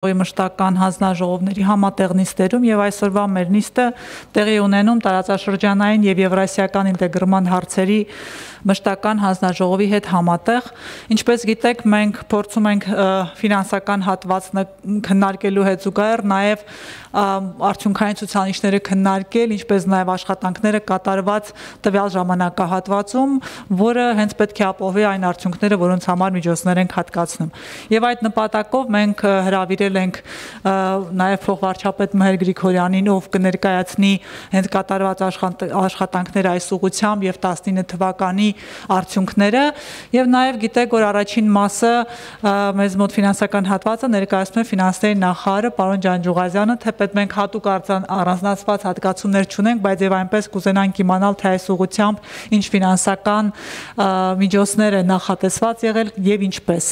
Մշտական հանձնաժողովների համատեղ նիստերում եւ այսօրվա մեր նիստը տեղի ունենում տարածաշրջանային եւ եվրասիական ինտեգրման հարցերի մշտական հանձնաժողովի հետ համատեղ, ինչպես գիտեք, մենք փորձում ենք ֆինանսական հատվածը քննարկելու հետ զուգահեռ նաեւ արդյունքային ցուցանիշները քննարկել, ինչպես նաեւ աշխատանքները կատարված տվյալ ժամանակահատվածում, որը հենց պետք է ապահովի այն արդյունքները, որոնց համար միջոցներ ենք հատկացնում։ Եվ այդ նպատակով մենք հրավիրել ենք նաև փոխվարչապետ Մհեր Գրիգորյանին, ով կներկայացնի հենց կատարված աշխատանքները այս ուղղությամբ եւ 19 թվականի արդյունքները, եւ նաև գիտեք, որ առաջին մասը մեզ մոտ ֆինանսական հատվածը ներկայացնում է ֆինանսների նախարարը պարոն Ջանջուղազյանը, թեպետ մենք հատուկ առանձնացված հատկացումներ չունենք, բայց եւ այնպես կուզենանք իմանալ, թե այս ուղղությամբ ինչ ֆինանսական միջոցներ է նախատեսված եղել եւ ինչպես։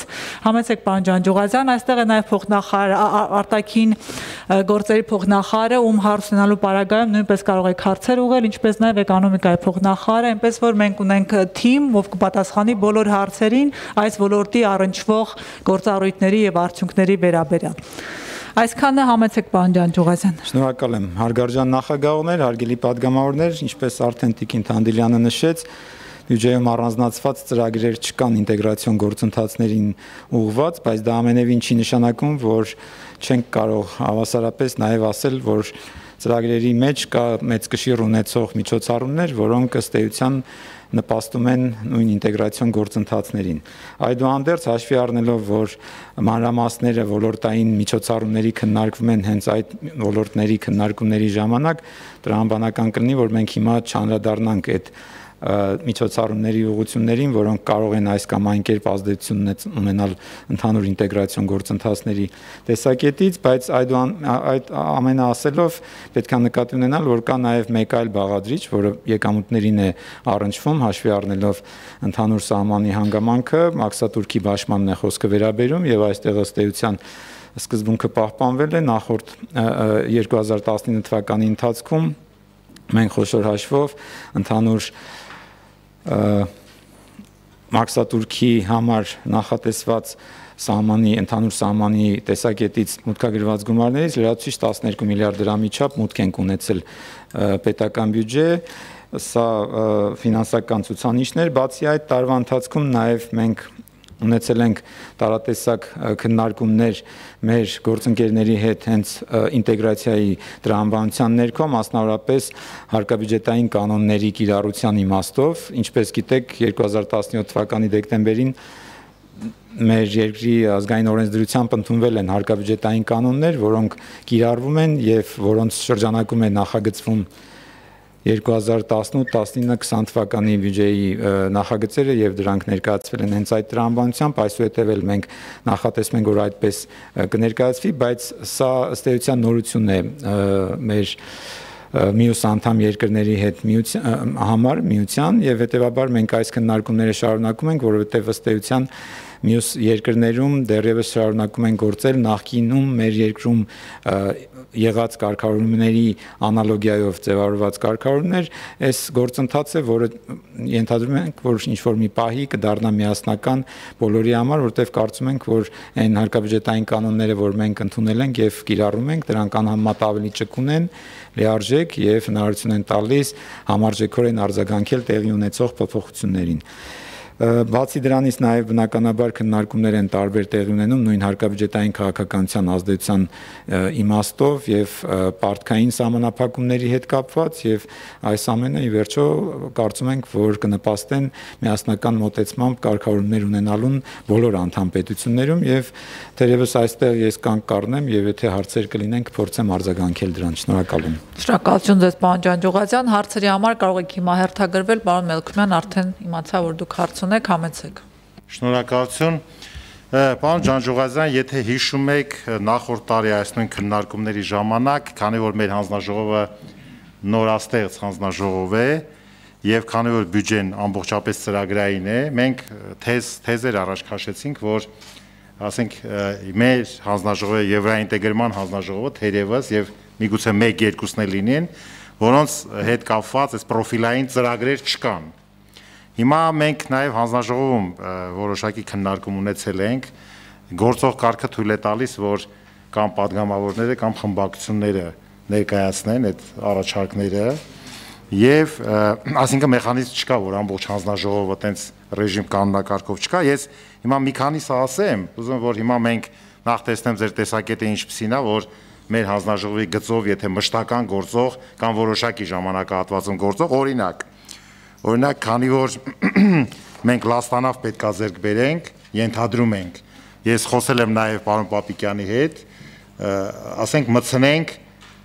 Համեցեք պարոն Ջանջուղազյան, այստեղ է նաև փոխնախարար արտաքին գործերի փոխնախարարը, ում հարց ունենալու պարագայում նույնպես կարող եք հարցեր ուղղել, ինչպես նաև էկոնոմիկայի փոխնախարարը, այնպես որ մենք ունենք թիմ, ով կպատասխանի բոլոր հարցերին այս ոլորտի առնչվող գործառույթների եւ արդյունքների վերաբերյալ։ Այսքանը համեցեք պարոն Ջանջուղազյան։ Շնորհակալ եմ, հարգարժան նախագահներ, հարգելի պատգամավորներ, ինչպես արդեն Տիկին Թանդիլյանը նշեց, բյուջեում առանձնացված ծրագրեր չկան ինտեգրացիոն գործընթացներին ուղղված, բայց դա ամենևին չի նշանակում, որ չենք կարող հավասարապես նաև ասել, որ ծրագրերի մեջ կա մեծ կշիռ ունեցող միջոցառումներ, որոնք ըստ էության նպաստում են նույն ինտեգրացիոն գործընթացներին։ Այդուհանդերձ հաշվի առնելով, որ մանրամասները ոլորտային միջոցառումների քննարկվում են հենց այդ ոլորտների քննարկումների ժամանակ, տրամաբանական կլինի, որ մենք հիմա չանդրադառնանք այդ միջոցառումների ուղղություններին, որոնք կարող են այս կամ այն կերպ ազդեցություն ունենալ ընդհանուր ինտեգրացիոն գործընթացների տեսակետից, բայց այդ ամենը ասելով պետք է նկատի ունենալ, որ կա նաև մեկ այլ բաղադրիչ, որը եկամուտներին է առնչվում, հաշվի առնելով ընդհանուր սահմանի հանգամանքը, մաքսատուրքի բաշխմանն է խոսքը վերաբերում եւ այստեղ ըստ էության սկզբունքը պահպանվել է նախորդ 2019 թվականի ընթացքում մենք խոշոր հաշվով ընդհանուր մաքսատուրքի համար նախատեսված ընդհանուր սահմանի տեսակետից մուտքագրված գումարներից լրացուցիչ 12 միլիարդ դրամի չափ մուտք ենք ունեցել պետական բյուջե, սա ֆինանսական ցուցանիշներ, բացի այդ տարվա ընթացքում նաև մենք ունեցել ենք տարատեսակ քննարկումներ մեր գործընկերների հետ հենց ինտեգրացիայի տրամաբանության ներքո, մասնավորապես հարկաբյուջետային կանոնների կիրառության իմաստով, ինչպես գիտեք 2017 թվականի դեկտեմբերին մեր երկրի ազգային օրենսդրությամբ ընդունվել են հարկաբյուջետային կանոններ, որոնք կիրառվում են եւ որոնց շրջանակում է նախագծվում 2018-19-20 թվականի բյուջեի նախագծերը եւ դրանք ներկայացվել են հենց այդ տրամաբանությամբ, այսուհետև էլ մենք նախատեսում ենք, որ այդպես կներկայացվի, բայց սա ըստ էության նորություն է մեր մյուս անդամ երկրների հետ միության եւ հետեւաբար մենք այս քննարկումները շարունակում ենք, որովհետեւ ըստ էության մյուս երկրներում դեռևս շարունակում են գործել նախկինում մեր երկրում եղած կարգավորումների անալոգիայով ձևավորված կարգավորումներ, այս գործընթացը, որը ենթադրում ենք, որ ինչ-որ մի պահի կդառնա միասնական բոլորի համար, որտեղ կարծում ենք, որ այն հարկաբյուջետային կանոնները, որ մենք ընդունել ենք եւ կիրառում ենք, դրանք անհամեմատ ավելի ճկուն են, լիարժեք եւ հնարավորություն են տալիս համարժեքորեն արձագանքել տեղի ունեցող փոփոխություններին։ Բացի դրանից նաև բնականաբար քննարկումներ են տարբեր տեղի ունենում նույն հարկաբյուջետային քաղաքականության ազդեցության իմաստով եւ պարտքային սահմանափակումների հետ կապված եւ այս ամենը ի վերջո կարծում ենք, որ կնպաստեն միասնական մոտեցմամբ կարգավորումներ ունենալուն բոլոր անդամ պետություններում եւ թերևս այստեղ ես կանգ կառնեմ եւ եթե հարցեր կլինեն կփորձեմ արձագանքել դրան։ Շնորհակալ եմ։ Շնորհակալություն ձեզ պարոն Ջանջուղազյան, հարցերի համար կարող եք հիմա հերթագրվել, պարոն Մելքումյան արդեն իմացա, որ դուք հարց ունեք, համեցեք։ Շնորհակալություն։ Պարոն Ջանջուղազյան, եթե հիշում եք նախորդ տարի այս նույն քննարկումների ժամանակ, քանի որ մեր հանձնաժողովը նորաստեղծ հանձնաժողով է եւ քանի որ բյուջեն ամբողջապես ծրագրային է, մենք թեզեր առաջ քաշեցինք, որ ասենք մեր հանձնաժողովը եվրոինտեգրման հանձնաժողովը թերևս եւ միգուցե 1-2-ն էլ լինեն, որոնց հետ կապված այս պրոֆիլային ծրագրեր չկան։ Հիմա մենք նաև հանձնաժողովում որոշակի քննարկում ունեցել ենք, գործող կարգը թույլ է տալիս, որ կամ падգամավորները կամ խմբակցությունները ներկայացնեն այդ առաջարկները եւ այսինքն մեխանիզմ չկա, որ ամբողջ հանձնաժողովը տենց ռեժիմ կանոնակարգով չկա։ Ես հիմա մի քանիսը ասեմ, ուզում եմ որ հիմա մենք նախ տեսնեմ ձեր տեսակետը ինչպիսին է, որ մեր հանձնաժողովի գծով, եթե մշտական գործող կամ որոշակի ժամանակահատվածում գործող, օրինակ, քանի որ մենք լաստանավ պետքա ձեռք բերենք, ենթադրում ենք, ես խոսել եմ նաև պարոն Պապիկյանի հետ, ասենք մտցնենք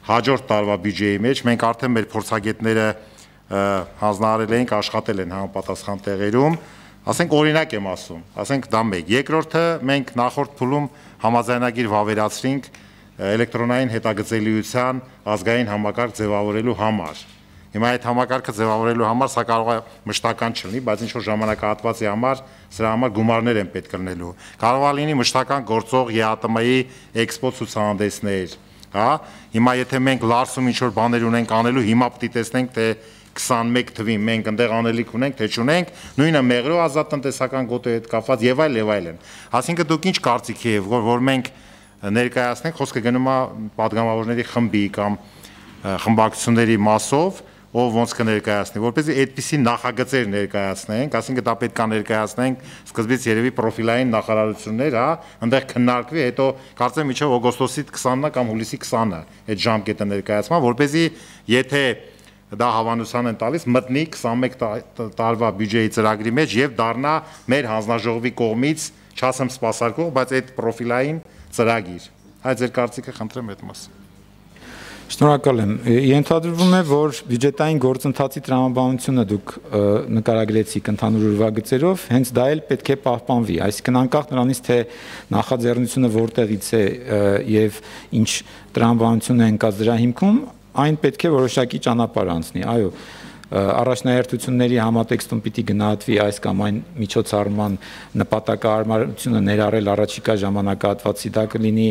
հաջորդ տարվա բյուջեի մեջ, մենք արդեն մեր փորձագետները հանձնարարել ենք, աշխատել են համապատասխան տեղերում, ասենք օրինակ եմ ասում, ասենք դա մեկ, երկրորդը մենք նախորդ փուլում համաձայնագիր վավերացրինք էլեկտրոնային հետագծելիության ազգային համակարգ ձևավորելու համար։ Հիմա այդ համակարգը ձևավորելու համար սա կարող է մշտական չլինի, բայց ինչ-որ ժամանակահատվածի համար սրա համար գումարներ են պետք լինելու։ Կարող է լինի մշտական գործող ԵԱՏՄ-ի էքսպո ցուցահանդեսներ, հա։ Հիմա եթե մենք Լարսում ինչ-որ բաներ ունենք անելու, հիմա պետք է տեսնենք թե 21 թվին մենք այնտեղ անելիք ունենք, թե չունենք, նույնը մեղրո ազատ տնտեսական գոտու հետ կապված եւ այլն։ Այսինքն դուք ինչ կարծիքի եք, որ մենք ներկայացնենք, խոսքը գնում է падգամավորների խմբի կամ խմբակցությունների մասով, ով ոնց կներկայացնի, որպեսզի այդպիսի նախագծեր ներկայացնենք, այսինքն դա պետք է ներկայացնենք սկզբից երևի պրոֆիլային նախարարություններ, հա, այնտեղ քննարկվի, հետո կարծեմ միջով օգոստոսի 20-ը կամ հուլիսի 20-ը այդ ժամկետը ներկայացման, որպեսզի եթե դա հավանության են տալիս մտնի 21 տարվա բյուջեի ծրագրի մեջ եւ դառնա մեր հանձնաժողովի կողմից չասեմ սպասարկող, բայց այդ պրոֆիլային ծրագիր։ Այդ ձեր կարծիքը խնդրեմ այդ մասը։ Շնորհակալ եմ։ Ենթադրվում է, որ բյուջետային գործընթացի տրամաբանությունը դուք նկարագրեցիք ընդհանուր ուրվագծերով, հենց դա էլ պետք է պահպանվի, այսինքն անկախ նրանից, թե նախաձեռնությունը որտեղից է եւ ինչ տրամաբանություն է ընկած դրա հիմքում, այն պետք է որոշակի ճանապարհ անցնի, այո, առաջնահերթությունների համատեքստում պիտի գնահատվի այս կամ այն միջոցառման նպատակահարմարությունը ներառել առաջիկա ժամանակահատվածի, դա կլինի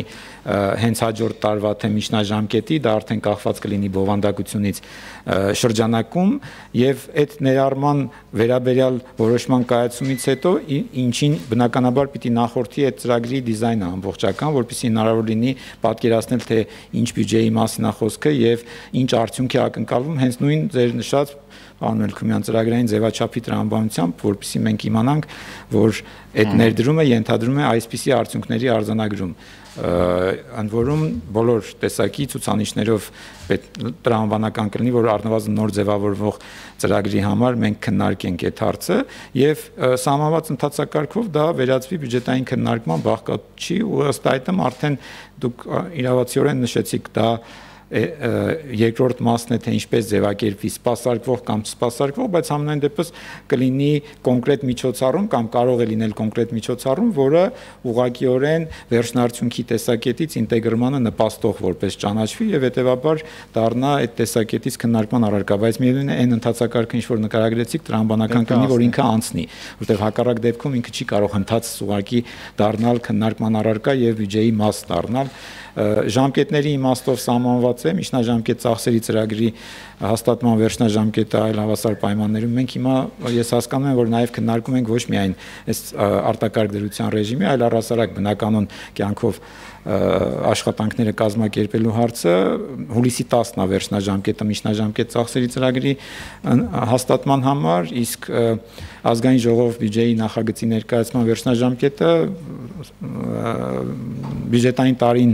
հենց հաջորդ տարվա թե միջնաժամկետի, դա արդեն կախված կլինի բովանդակությունից շրջանակում եւ այդ ներառման վերաբերյալ որոշման կայացումից հետո ինչին բնականաբար պիտի նախորդի այդ ծրագրի դիզայնը ամբողջական, որպեսզի հնարավոր լինի պատկերացնել թե ինչ բյուջեի մասին է խոսքը եւ ինչ արդյունք է ակնկալվում հենց նույն ձեր նշած պարոն Մելքումյան ծրագրային ձևաչափի տրամաբանությամբ, որպեսզի մենք իմանանք, որ այդ ներդրումը ենթադրում է այսպիսի արդյունքների արձանագրում, ընդ որում բոլոր տեսակի ցուցանիշներով տրամաբանական կլինի, որ առնվազն նոր ձևավորվող ծրագրի համար մենք քննարկենք այդ հարցը եւ սահմանված ընթացակարգով դա վերածվի բյուջետային քննարկման բաղկացի ու ըստ այդմ արդեն դուք իրավացիորեն նշեցիք դա երկրորդ մասն է թե ինչպես ձևակերպվի սպասարկվող կամ չսպասարկվող, բայց համենայն դեպս կլինի կոնկրետ միջոցառում կամ կարող է լինել կոնկրետ միջոցառում, որը ուղղակիորեն վերջնարդյունքի տեսակետից ինտեգրմանը նպաստող որպես ճանաչվի եւ հետեւաբար դառնա այդ տեսակետից քննարկման առարկա, բայց միևնույն է այն ընթացակարգը ինչ որ նկարագրեցիք տրամաբանական կլինի, որ ինքը անցնի, որտեղ հակառակ դեպքում ինքը չի կարող հնդած ուղղակի դառնալ քննարկման առարկա եւ բյուջեի մաս դառնալ ժամկետների իմաստով սահմանված է միջնաժամկետ ծախսերի ծրագրի հաստատման վերջնաժամկետը այլ հավասար պայմաններում մենք հիմա ես հասկանում եմ որ նաև քննարկում ենք ոչ միայն այս արտակարգ դրության ռեժիմի այլ առհասարակ բնականon կյանքով աշխատանքները կազմակերպելու հարցը հուլիսի 10-ն է վերջնաժամկետը միջնաժամկետ ծախսերի ծրագրի հաստատման համար իսկ ազգային ժողով բյուջեի նախագծի ներկայացման վերջնաժամկետը բյուջետային տարին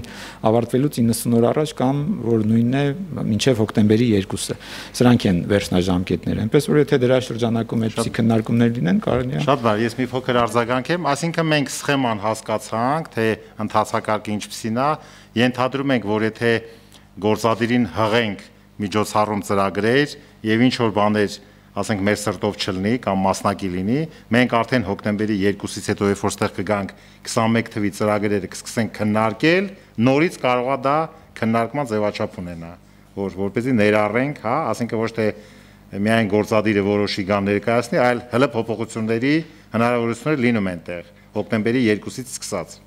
ավարտվելուց 90 օր առաջ կամ որ նույնն է մինչև հոկտեմբերի 2-ը սրանք են վերջնաժամկետները այնպես որ եթե դրա շրջանակում այդպիսի քննարկումներ լինեն կարելի է Շատ լավ ես մի փոքր արձագանքեմ այսինքն մենք սխեման հասկացանք թե ընթացակարգը ինչպիսին է ենթադրում ենք որ եթե գործադիրին հղենք միջոցառում ծրագրեր եւ ինչ որ բաներ ասենք մեր սրտով չլինի կամ մասնակի լինի, մենք արդեն հոկտեմբերի 2-ից հետո երբ որ ստեղ կգանք 21 թվի ծրագրերը կսկսենք քննարկել, նորից կարող է դա քննարկման ձևաչափ ունենա, որպեսզի ներառենք, հա, ասենք ոչ թե միայն գործադիրը որոշի գան ներկայացնի, այլ հələ փոփոխությունների հնարավորություններ լինում են տեղ, հոկտեմբերի 2-ից սկսած։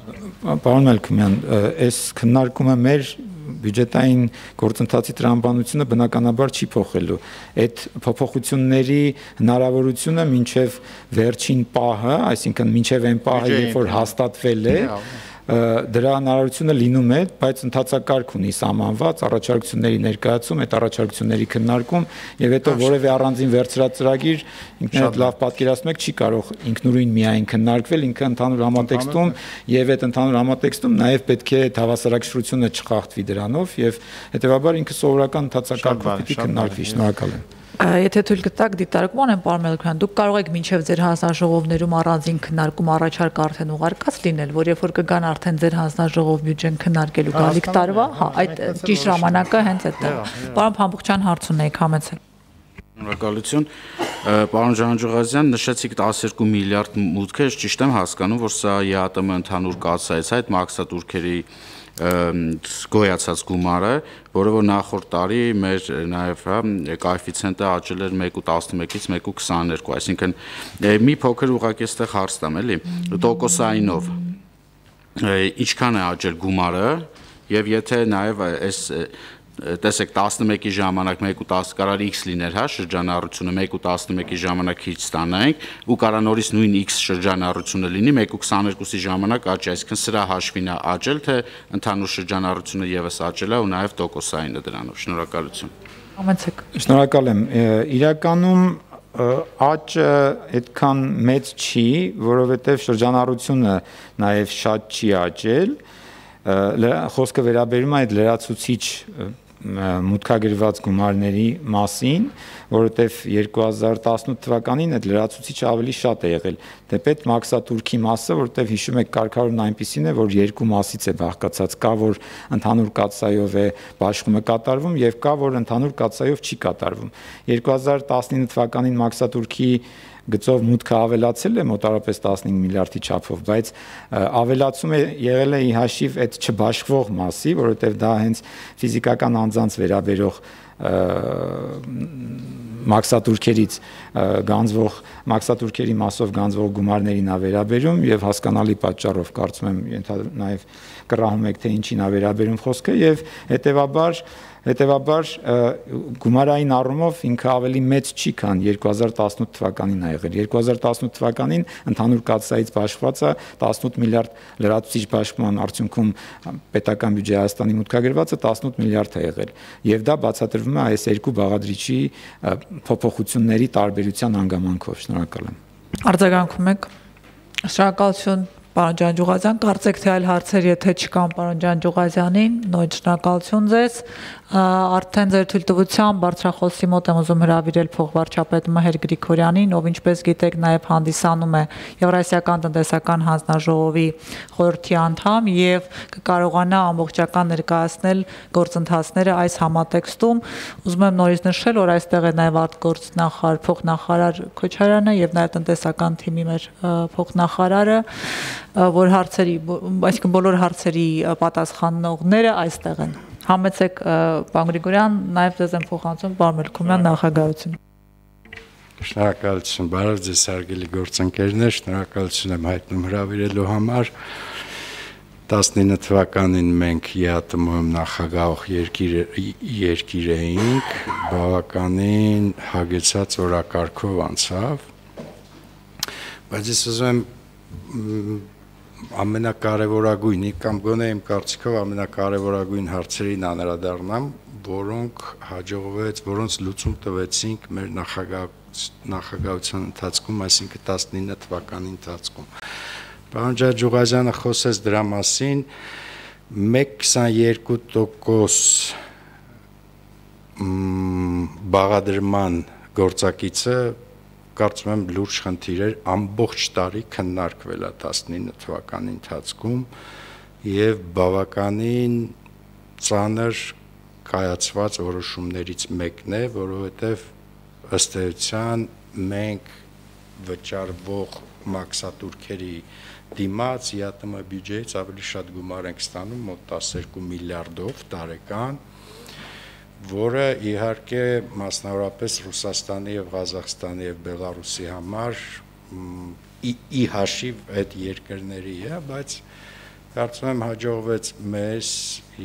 Պարոն Մելքումյան, այս քննարկումը մեր բյուջետային գործընթացի տրամաբանությունը բնականաբար չի փոխելու։ Այդ փոփոխությունների հնարավորությունը մինչև վերջին պահը, այսինքն մինչև այն պահը, երբ որ հաստատվել է, դրա հնարավորությունը լինում է, բայց ընդհանրակարգ ունի սահմանված առաջարկությունների ներկայացում, այդ առաջարկությունների քննարկում եւ հետո որևէ առանձին վերցրած ծրագիր ինքն այդ լավ պատկերացնում եք չի կարող ինքնուրույն միայն քննարկվել, ինքը ընդհանուր համատեքստում եւ այդ ընդհանուր համատեքստում նաեւ պետք է հավասարակշռությունը չխախտվի դրանով եւ հետեւաբար ինքը սովորական ընդհանրակարգով պիտի քննարկվի։ Շնորհակալ եմ։ Եթե թույլ կտաք դիտարկման են պարոն Մելիքյան, դուք կարող եք մինչև ձեր հանձնաժողովներում առանձին քննարկում առաջարկ արդեն ուղարկած լինել, որ երբ որ կգան արդեն ձեր հանձնաժողով բյուջեն քննարկելու գալիք տարվա, հա, այդ ճիշտ ժամանակը հենց այդտեղ։ Պարոն Փամփուխչյան հարց ունեիք, համեցեք։ Շնորհակալություն։ Պարոն Ջանջուղազյան, նշեցիք 12 միլիարդ մուտք է, ճիշտ եմ հասկանում, որ սա ԵԱՏՄ ընդհանուր կասայից այդ մաքսատուրքերի գոյացած գումարը, որը որ նախորդ տարի մեր նաև կոեֆիցիենտը աճել էր 1.11-ից 1.22, այսինքն մի փոքր ուղղակի այստեղ հարց տամ, էլի, տոկոսայինով ինչքան է աճել գումարը եւ եթե նաև այս տեսեք 11-ի ժամանակ 1.10 կարար x լիներ, հա, շրջանառությունը 1.11-ի ժամանակ քիչ ստանանք ու կարա նորից նույն x շրջանառությունը լինի 1.22-ի ժամանակ աճի, այսինքն սրա հաշվին է աճել, թե ընդհանուր շրջանառությունը եւս աճել է ու նաև տոկոսայինը դրանով։ Շնորհակալություն։ Համեցեք։ Շնորհակալ եմ։ Իրականում աճը այդքան մեծ չի, որովհետև շրջանառությունը նաև շատ չի աճել։ Խոսքը վերաբերում է այդ լրացուցիչ մուտքագրված գումարների մասին, որովհետև 2018 թվականին այդ լրացուցիչը ավելի շատ է եղել։ Դեպետ մաքսատուրքի մասը, որովհետև հիշում եք կարգավորումն այնպիսին է, որ երկու մասից է բաղկացած, կա որ ընդհանուր կաթսայով է բաշխումը կատարվում եւ կա որ ընդհանուր կաթսայով չի կատարվում։ 2019 թվականին մաքսատուրքի գծով մուտքը ավելացել է մոտարապես 15 միլիարդի չափով, բայց ավելացումը եղել է ի հաշիվ այդ չբաշխվող մասի, որովհետև դա հենց ֆիզիկական անձանց վերաբերող մաքսատուրքերից գանձվող մաքսատուրքերի մասով գանձվող գումարներին է վերաբերում եւ հասկանալի պատճառով կարծում եմ նաեւ կռահում եք թե ինչին է վերաբերում խոսքը եւ հետեւաբար գումարային առումով ինքը ավելի մեծ չի, քան 2018 թվականին ա եղել։ 2018 թվականին ընդհանուր կաթսայից բաշխվածը 18 միլիարդ լրացուցիչ բաշխման արդյունքում պետական բյուջեի Հայաստանի մուտքագրվածը 18 միլիարդ է եղել։ Եվ դա բացատրվում է այս երկու բաղադրիչի փոփոխությունների տարբերության հանգամանքով։ Շնորհակալ եմ։ Արձագանքում եք։ Շնորհակալություն պարոն Ջանջուղազյան, կարծեք թե այլ հարցեր եթե չկան պարոն Ջանջուղազյանին, նույն շնորհակալություն ձեզ։ Արդեն ձեր թույլտվությամբ բարձրախոսի մոտ եմ ուզում հրավիրել փոխվարչապետ Մհեր Գրիգորյանին, ով ինչպես գիտեք նաև հանդիսանում է Եվրասիական տնտեսական հանձնաժողովի խորհրդի անդամ եւ կկարողանա ամբողջական ներկայացնել գործընթացները այս համատեքստում։ Ուզում եմ նորից նշել, որ այստեղ է նաև արտգործնախարար, փոխնախարար Քոչարյանը եւ նաև տնտեսական թիմի մեր փոխնախարարը, որ հարցերի, այսինքն բոլոր հարցերի պատասխանողները այստեղ են։ Համեցեք պարոն Գրիգորյան, նաև ձեզ եմ փոխանցում պարոն Մելիքյան նախագահություն։ Շնորհակալություն, բարև ձեզ հարգելի գործընկերներ, շնորհակալություն եմ հայտնում հրավիրելու համար։ 19 թվականին մենք ԵԱՏՄ-ում նախագահող երկիր էինք, բավականին հագեցած օրակարգով անցավ, բայց ես ուզում եմ ամենակարևորագույնի կամ գոնե իմ կարծիքով ամենակարևորագույն հարցերին անդրադառնամ, որոնց լուծում տվեցինք մեր նախագահության ընթացքում, այսինքն 19 թվականի ընթացքում։ Պարոն Ջանջուղազյանը խոսեց դրա մասին, 1.22% բաղադրման գործակիցը կարծում եմ լուրջ խնդիր էր, ամբողջ տարի քննարկվել է 19 թվականի ընթացքում եւ բավականին ծանր կայացված որոշումներից մեկն է, որովհետեւ ըստ էության մենք վճարվող մաքսատուրքերի դիմաց ԵԱՏՄ բյուջեից ավելի շատ գումար ենք ստանում, մոտ 12 միլիարդով տարեկան, որը իհարկե մասնավորապես Ռուսաստանի եւ Ղազախստանի եւ Բելարուսի համար ի հաշիվ այդ երկրների է, բայց կարծում եմ հաջողվեց մեզ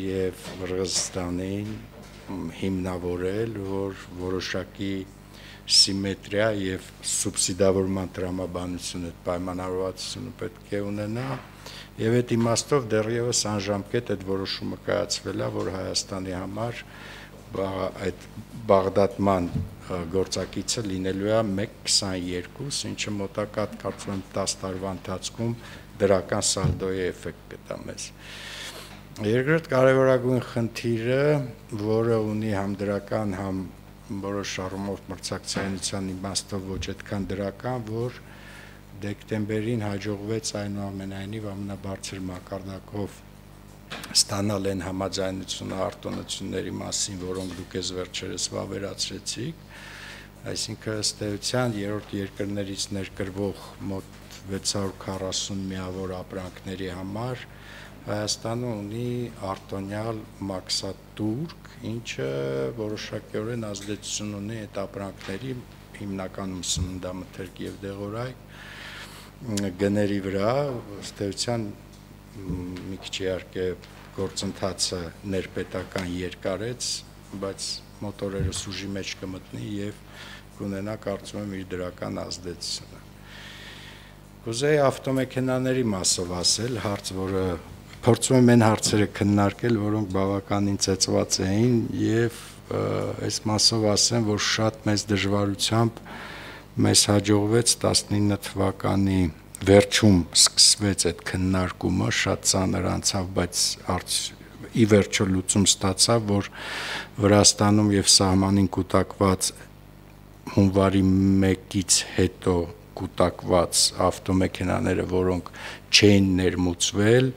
եւ Qırğızstanին հիմնավորել, որ որոշակի սիմետրիա եւ սուբսիդավորման տրամաբանություն այդ պայմանավորվածությունը պետք է ունենա եւ այդ իմաստով դեռևս անժամկետ այդ որոշումը կայացվել է, որ Հայաստանի համար այդ բաղդատման գործակիցը լինելու է 1.22, ինչը մոտակա կարծում եմ 10 տարվա ընթացքում դրական սալդոյի էֆեկտ կտա մեզ։ Երկրորդ կարևորագույն խնդիրը, որը ունի համ դրական, համ որոշ առումով մրցակցայնության իմաստով ոչ այդքան դրական, որ դեկտեմբերին հաջողվեց այնուամենայնիվ ամենաբարձր մակարդակով ստանալ այն համաձայնությունը արտոնությունների մասին, որոնք դուք ես վերջերս վավերացրեցիք, այսինքն ըստ էության երրորդ երկրներից ներկրվող մոտ 640 միավոր ապրանքների համար Հայաստանը ունի արտոնյալ մաքսատուրք, ինչը որոշակիորեն ազդեցություն ունի այդ ապրանքների հիմնականում սննդամթերք եւ դեղորայք գների վրա, ըստ էության մի քիչ իհարկե գործընթացը ներպետական երկարեց, բայց մոտորերս ուժի մեջ կմտնի եւ կունենա կարծում եմ իր դրական ազդեցությունը։ Կուզեի ավտոմեքենաների մասով ասել, հարց, որը փորձում եմ այն հարցերը քննարկել, որոնք բավականին ծեծված էին եւ այս մասով ասեմ, որ շատ մեծ դժվարությամբ մեզ հաջողվեց 19 թվականի վերջում սկսվեց այդ քննարկումը, շատ ծանր անցավ, բայց ի վերջո լուծում ստացավ, որ Վրաստանում եւ սահմանին կուտակված հունվարի 1-ից հետո կուտակված ավտոմեքենաները, որոնք չէին ներմուծվել,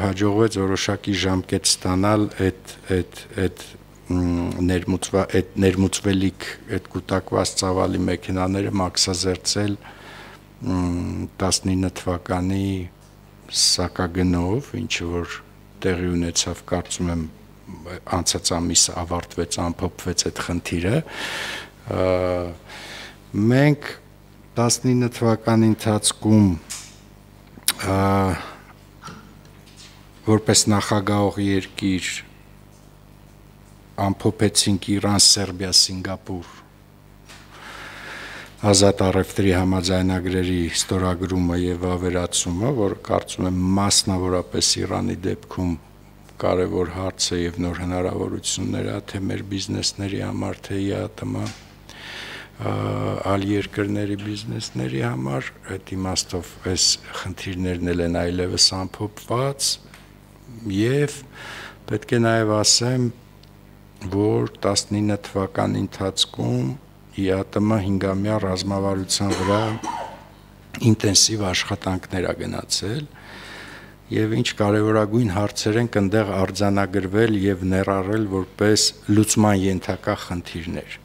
հաջողվեց որոշակի ժամկետ ստանալ այդ ներմուծվելիք այդ կուտակված ծավալի մեքենաները մաքսազերծել 19 թվականի սակագնով, ինչը որ տեղի ունեցավ, կարծում եմ անցած ամիս ավարտվեց, ամփոփվեց այդ խնդիրը։ Մենք 19 թվականի ընթացքում որպես նախագահող երկիր ամփոփեցինք Իրան, Սերբիա, Սինգապուր ազատ առևտրի համաձայնագրերի ստորագրումը եւ ավերացումը, որ կարծում եմ մասնավորապես Իրանի դեպքում կարևոր հարց է եւ նոր հնարավորություններ է թե մեր բիզնեսների համար, թե ԵԱՏՄ այլ երկրների բիզնեսների համար, այդ իմաստով այս խնդիրներն են այլևս ամփոփված եւ պետք է նաեւ ասեմ, որ 19 թվականի ընթացքում ԵԱՏՄ 5-ամյա ռազմավարության վրա ինտենսիվ աշխատանքներ ա գնացել եւ ինչ կարեւորագույն հարցեր են այնտեղ արձանագրվել եւ ներառել որպես լուծման ենթակա խնդիրներ։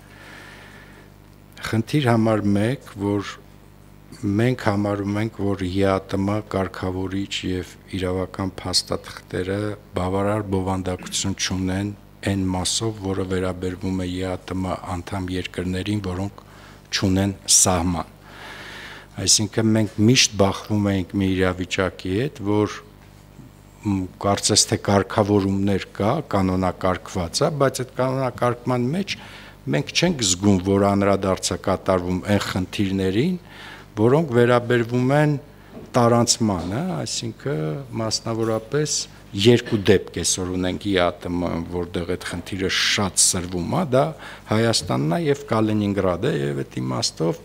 Խնդիր համար 1, որ մենք համարում ենք, որ ԵԱՏՄ կարգավորիչ եւ իրավական փաստաթղթերը բավարար բովանդակություն չունեն այն մասով, որը վերաբերվում է ԵԱՏՄ անդամ երկրներին, որոնք չունեն սահման։ Այսինքն մենք միշտ բախվում ենք մի իրավիճակի հետ, որ կարծես թե կարգավորումներ կա, կանոնակարգված է, բայց այդ կանոնակարգման մեջ մենք չենք զգում, որ անդրադարձ է կատարվում այն խնդիրներին, որոնք վերաբերվում են տարանցմանը, այսինքն մասնավորապես երկու դեպք այսօր ունենք ԵԱՏՄ, որտեղ այդ խնդիրը շատ սրվում է, դա Հայաստանն է եւ Կալինինգրադը, եւ այդ իմաստով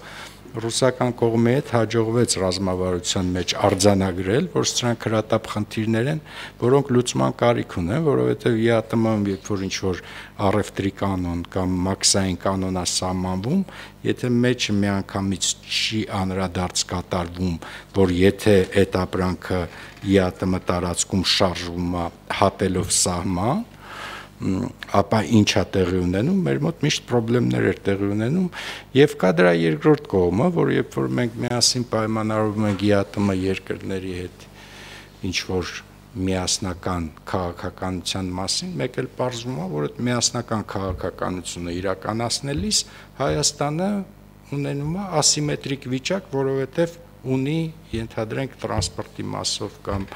ռուսական կողմի հետ հաջողվեց ռազմավարության մեջ արձանագրել, որ սրանք հրատապ խնդիրներ են, որոնք լուծման կարիք ունեն, որովհետև ԵԱՏՄ-ում երբ որ ինչ-որ առևտրի կանոն կամ մաքսային կանոն է սահմանվում, եթե մեջը միանգամից չի անդրադարձ կատարվում, որ եթե այդ ապրանքը ԵԱՏՄ տարածքում շարժվում է հատելով սահման, ապա ինչ է տեղի ունենում, մեր մոտ միշտ խնդիրներ էր տեղի ունենում եւ կա դրա երկրորդ կողմը, որ երբ որ մենք միասին պայմանավորվում ենք ԵԱՏՄ երկրների հետ ինչ որ միասնական քաղաքականության մասին, մեկ էլ պարզվում է, որ այդ միասնական քաղաքականությունը իրականացնելիս Հայաստանը ունենում է ասիմետրիկ վիճակ, որովհետեւ ունի, ենթադրենք, տրանսպորտի մասով կամ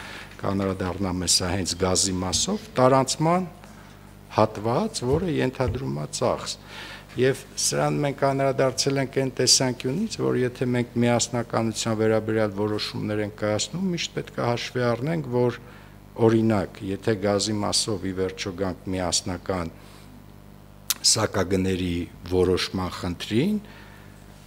կանրադառնամ հեսա հենց գազի մասով տարանցման հատված, որը ենթադրում է ծախս։ Եվ սրան մենք անդրադարձել ենք այն տեսանկյունից, որ եթե մենք միասնականության վերաբերյալ որոշումներ ենք կայացնում, միշտ պետք է հաշվի առնենք, որ օրինակ, եթե գազի մասով ի վերջո գանք միասնական սակագների որոշման խնդրին,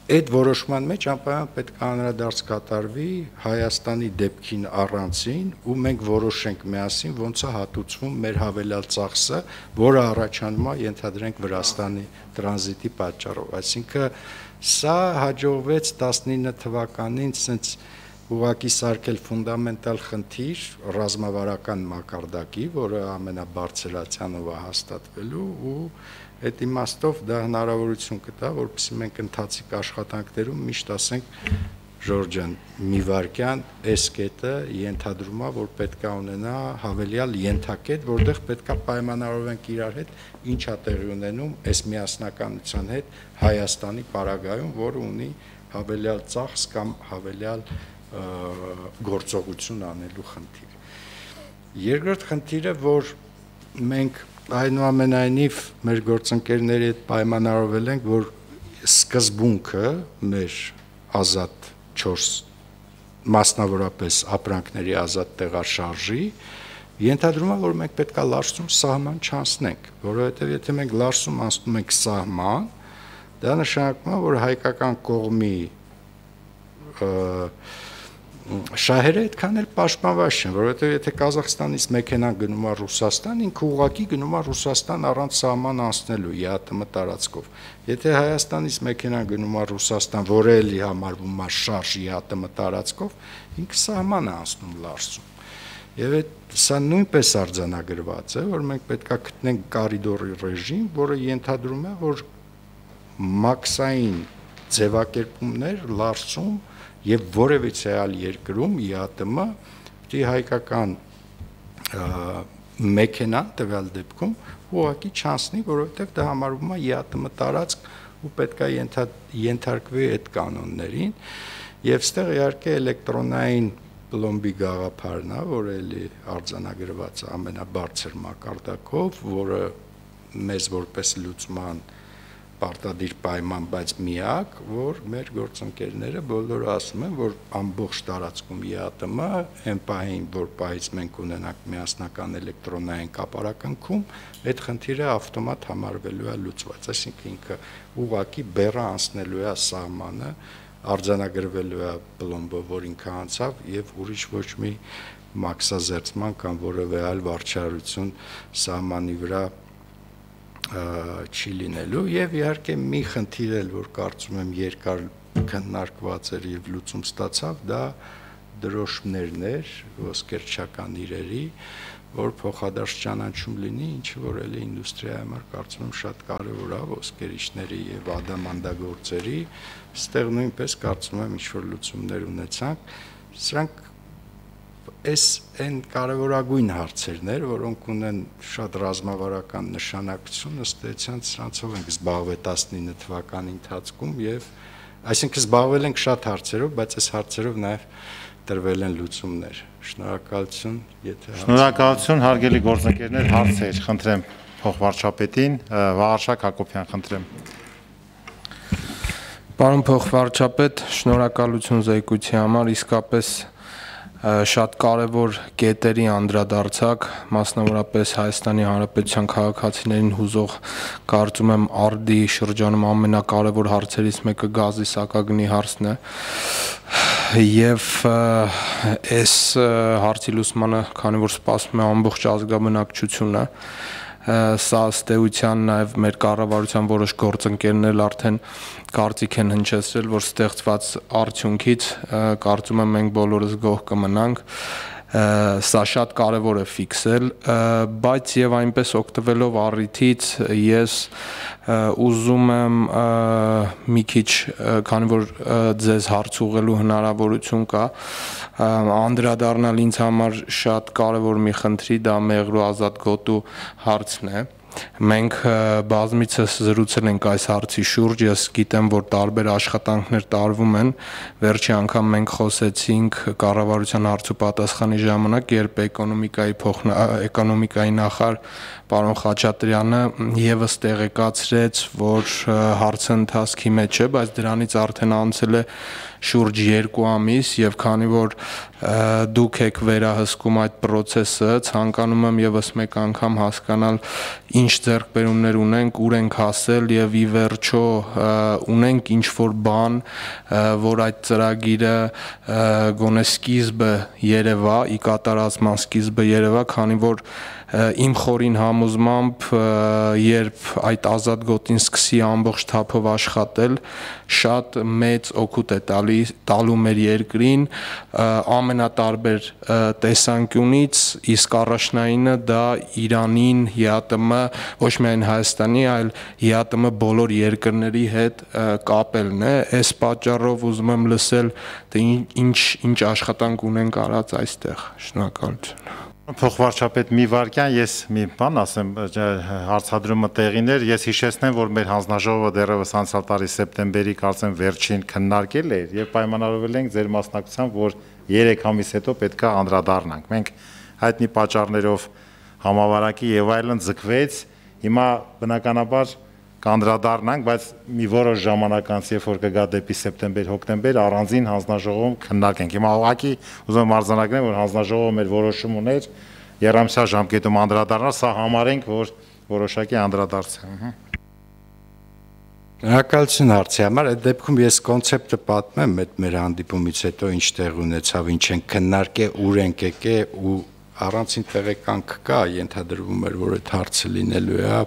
այդ որոշման մեջ անպայման պետք է անդրադարձ կատարվի Հայաստանի դեպքին առանցին ու մենք որոշենք միասին ոնց է հատուցվում մեր հավելյալ ծախսը, որը առաջանում է ենթադրենք Վրաստանի տրանզիտի պատճառով, այսինքն սա հաջողվեց 19 թվականին ցենց ուղղակի սարքել ֆունդամենտալ խնդիր ռազմավարական մակարդակի, որը ամենաբարձրացյանով է հաստատվելու ու այդ իմաստով դա հնարավորություն կտա, որպեսզի մենք ընթացիկ աշխատանքներում միշտ ասենք Ժորժ ջան, մի վարքյան այս կետը ենթադրում է, որ պետք է ունենա հավելյալ ենթակետ, որտեղ պետք է պայմանավորվենք իրար հետ, ինչ է տեղի ունենում այս միասնականության հետ Հայաստանի պարագայում, որը ունի հավելյալ ծախս կամ հավելյալ գործողություն անելու խնդիր։ Երկրորդ խնդիրը, որ մենք այնուամենայնիվ մեր գործընկերների հետ պայմանավորվել ենք, որ սկզբունքը մեր ազատ 4 մասնավորապես ապրանքների ազատ տեղաշարժի ենթադրում է, որ մենք պետք է լարսում սահման չանցնենք, որովհետև եթե մենք լարսում անցնում ենք սահման, դա նշանակում է, որ հայկական կողմի շահերը այդքան էլ պաշտպանված չեն, որովհետև եթե Կազախստանից մեքենան գնում է Ռուսաստան, ինքը ուղղակի գնում է Ռուսաստան առանց սահման անցնելու ԵԱՏՄ տարածքով։ Եթե Հայաստանից մեքենան գնում է Ռուսաստան, որը էլի համարվում է շարժ ԵԱՏՄ տարածքով, ինքը սահման է անցնում լարսում։ Եվ սա նույնպես արձանագրված է, որ մենք պետք է գտնենք կորիդորի ռեժիմ, որը ենթադրում է, որ մաքսային ձևակերպումներ լարսում եւ որևիցե այլ երկրում ԵԱՏՄ դի հայկական մեքենան տվյալ դեպքում ուղղակի չանցնի, որովհետեւ դա համարվում է ԵԱՏՄ տարածք ու պետք է ենթարկվի այդ կանոններին եւ ստեղ իհարկե էլեկտրոնային պլոմբի գաղափարն է, որը էլի արձանագրված է ամենաբարձր մակարդակով, որը մեզ որպես լուծման պարտադիր պայման, բայց միակ, որ մեր գործընկերները բոլորը ասում են, որ ամբողջ տարածքում ԵԱՏՄ այն պահին, որ պահից մենք ունենանք միասնական էլեկտրոնային կապարակնքում, այդ խնդիրը ավտոմատ համարվելու է լուծված, այսինքն ինքը ուղղակի բեռը անցնելու է սահմանը, արձանագրվելու է պլոմբը, որ ինքը անցավ եւ ուրիշ ոչ մի մաքսազերծման կամ որևէ այլ վարչարություն սահմանի վրա չի լինելու եւ իհարկե մի խնդիր էլ որ կարծում եմ երկար քննարկված էր եւ լուծում ստացավ դա դրոշմներն էր ոսկերչական իրերի որ փոխադարձ ճանաչում լինի ինչը որ էլի ինդուստրիայի համար կարծում եմ շատ կարեւոր է ոսկերիչների եւ ադամանդագործերի ստեղ նույնպես կարծում եմ ինչ որ լուծումներ ունեցանք սրանք Այս այն կարևորագույն հարցերն էր, որոնք ունեն շատ ռազմավարական նշանակություն, ըստ էության սրանցով ենք զբաղվել 19 թվականի ընթացքում եւ այսինքն զբաղվել ենք շատ հարցերով, բայց այս հարցերով նաեւ տրվել են լուծումներ։ Շնորհակալություն, եթե Շնորհակալություն, հարգելի գործընկերներ, հարցեր, խնդրեմ փոխվարչապետին, Վաղարշակ Հակոբյան, խնդրեմ։ Պարոն փոխվարչապետ, շնորհակալություն զեկույցի համար, իսկապես շատ կարևոր կետերի անդրադարձակ, մասնավորապես Հայաստանի Հանրապետության քաղաքացիներին հուզող կարծում եմ արդի շրջանում ամենակարևոր հարցերից մեկը գազի սակագնի հարցն է եւ այս հարցի լուծմանը, քանի որ սպասվում է ամբողջ ազգաբնակչությունը սա ըստ էության նաև մեր կառավարության որոշ գործընկերներ արդեն կարծիք են հնչեցրել, որ ստեղծված արդյունքից կարծում եմ մենք բոլորս գոհ կմնանք, սա շատ կարևոր է ֆիքսել, բայց եւ այնպես օգտվելով առիթից ես ուզում եմ մի քիչ, քանի որ ձեզ հարց ուղղելու հնարավորություն կա, անդրադառնալ ինձ համար շատ կարևոր մի խնդրի, դա Մեղրու ազատ գոտու հարցն է, Մենք բազմիցս զրուցել ենք այս հարցի շուրջ, ես գիտեմ, որ տարբեր աշխատանքներ տարվում են, վերջի անգամ մենք խոսեցինք կառավարության հարց ու պատասխանի ժամանակ, երբ էկոնոմիկայի նախարար պարոն Խաչատրյանը եւս տեղեկացրեց, որ հարցը ընթացքի մեջ է, բայց դրանից արդեն անցել է շուրջ 2 ամիս եւ քանի որ դուք եք վերահսկում այդ process-ը, ցանկանում եմ եւս մեկ անգամ հասկանալ ինչ ձեռքբերումներ ունենք, ուր ենք հասել եւ ի վերջո ունենք ինչ որ բան, որ այդ ծրագիրը գոնե սկիզբը երևա, ի կատարածման սկիզբը երևա, քանի որ իմ խորին համոզմամբ, երբ այդ ազատ գոտին սկսի ամբողջ թափով աշխատել, շատ մեծ օգուտ է տալու մեր երկրին ամենատարբեր տեսանկյունից, իսկ առաջնայինը դա Իրանին, ՀԱՏՄ, ոչ միայն Հայաստանի, այլ ՀԱՏՄ բոլոր երկրների հետ կապելն է։ Այս պատճառով ուզում եմ լսել, թե ինչ աշխատանք ունենք արած այստեղ։ Շնորհակալություն։ Փոխվարչապետ մի վարքյան ես մի բան ասեմ, հարցադրումը տեղիներ, ես հիշեցնեմ, որ մեր հանձնաժողովը դեռևս անցյալ տարի սեպտեմբերի կարծեմ վերջին քննարկել էր եւ պայմանավորվել ենք ձեր մասնակցությամբ, որ 3 ամիս հետո պետքա անդրադառնանք։ Մենք հայտնի պատճառներով համավարակի եւ այլն ձգվեց, հիմա բնականաբար կանդրադառնանք, բայց մի որոշ ժամանակ անց, երբ որ կգա դեպի սեպտեմբեր-հոկտեմբեր, առանձին հանձնաժողովում քննարկենք։ Հիմա ուղղակի ուզում եմ արձանագրեմ, որ հանձնաժողովը մեր որոշում ուներ երամսյա ժամկետում անդրադառնալ, սա համարենք, որ որոշակի անդրադարձ է։ Շնորհակալություն հարցի համար, այդ դեպքում ես կոնցեպտը պատմեմ այդ մեր հանդիպումից հետո ինչ տեղ ունեցավ, ինչ են քննարկել, ուր ենք եկել ու առանցին տեղեկանք կա, ենթադրվում էր, որ այդ հարցը լինելու է,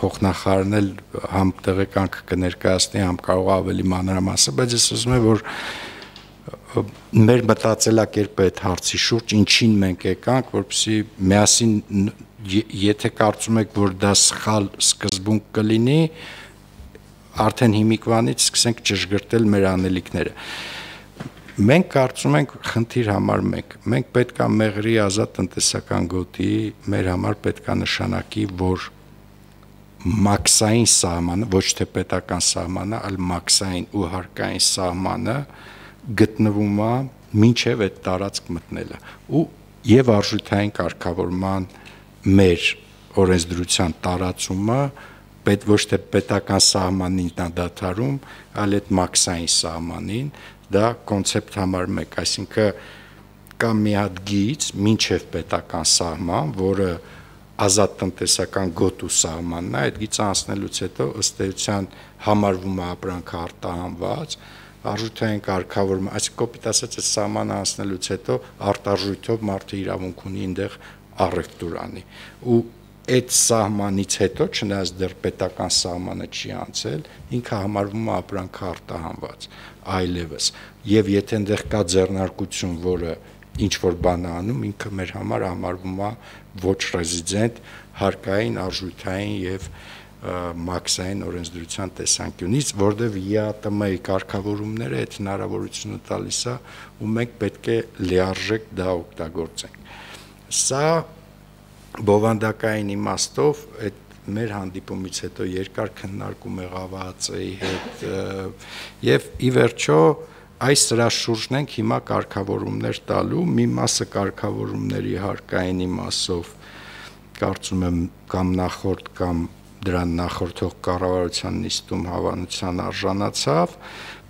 փոխնախարարն էլ համ տեղեկանք կներկայացնի, համ կարող ավելի մանրամասը, բայց ես ուզում եմ, որ մեր մտածելակերպը այդ հարցի շուրջ ինչին մենք եկանք, որպեսզի միասին, եթե կարծում եք, որ դա սխալ սկզբունք կլինի, արդեն հիմիկվանից սկսենք ճշգրտել մեր անելիքները։ Մենք կարծում ենք խնդիր համար մենք պետք է մեղրի ազատ տնտեսական գոտի մեր համար պետք է նշանակի, որ մաքսային սահմանը, ոչ թե պետական սահմանը, այլ մաքսային ու հարկային սահմանը գտնվում է մինչև այդ տարածք մտնելը ու եւ արժութային կարգավորման մեր օրենսդրության տարածումը պետք ոչ թե պետական սահմանին դադարում, այլ այդ մաքսային սահմանին, դա կոնցեպտ համար 1, այսինքն կա մի հատ գիծ մինչև պետական սահման, որը ազատ տնտեսական գոտու սահմանն է, այդ գիծը անցնելուց հետո ըստ էության համարվում է ապրանքը արտահանված, արժութային կարգավորումը, այսինքն կոպիտ ասած այդ սահմանը անցնելուց հետո արտարժույթով մարդը իրավունք ունի այնտեղ առևտուր անի։ Ու այդ սահմանից հետո, չնայած դեռ պետական սահմանը չի անցել, ինքը համարվում է ապրանքը արտահանված, այլևս։ Եվ եթե այնտեղ կա ձեռնարկություն, որը ինչ որ բան անում, ինքը մեր համար համարվում է ոչ ռեզիդենտ հարկային, արժութային եւ մաքսային օրենսդրության տեսանկյունից, որտեղ ԵԱՏՄ-ի կարգավորումները այդ հնարավորությունը տալիս է, ու մենք պետք է լիարժեք դա օգտագործենք։ Սա բովանդակային իմաստով այդ մեր հանդիպումից հետո երկար քննարկում եղավ ԱԱԾ-ի հետ եւ ի վերջո այս սրա շուրջն ենք հիմա կարգավորումներ տալու, մի մասը կարգավորումների հարկայինի մասով կարծում եմ կամ նախորդ կամ դրան նախորդող կառավարության նիստում հավանության արժանացավ,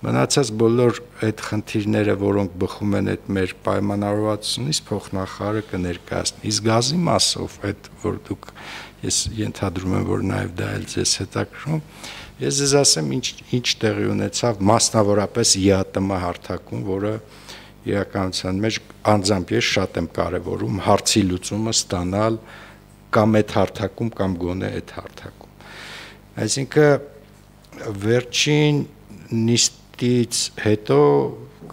մնացած բոլոր այդ խնդիրները, որոնք բխում են այդ մեր պայմանավորվածությունից, փոխնախարարը կներկայացնի։ Իսկ գազի մասով այդ որ դուք ես ենթադրում եմ, որ նաև դա էլ ձեզ հետաքրքրում, ես ձեզ ասեմ ինչ տեղի ունեցավ մասնավորապես ԵԱՏՄ հարթակում, որը իրականության մեջ անձամբ ես շատ եմ կարևորում հարցի լուծումը ստանալ կամ այդ հարթակում կամ գոնե այդ հարթակում։ Այսինքն վերջին նիստից հետո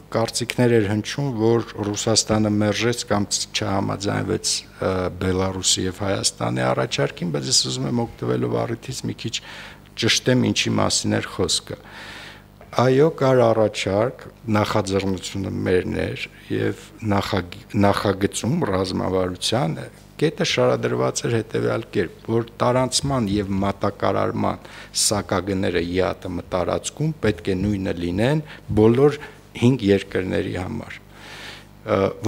կարծիքներ էր հնչում, որ Ռուսաստանը մերժեց կամ չհամաձայնվեց Բելարուսի եւ Հայաստանի առաջարկին, բայց ես ուզում եմ օգտվելով առիթից մի քիչ ճշտեմ ինչի մասին էր խոսքը։ Այո, կար առաջարկ, նախաձեռնությունը մերն էր եւ նախագծում ռազմավարության կետը շարադրված էր հետեւյալ կերպ, որ տարանցման եւ մատակարարման սակագները ԵԱՏՄ տարածքում պետք է նույնը լինեն բոլոր 5 երկրների համար,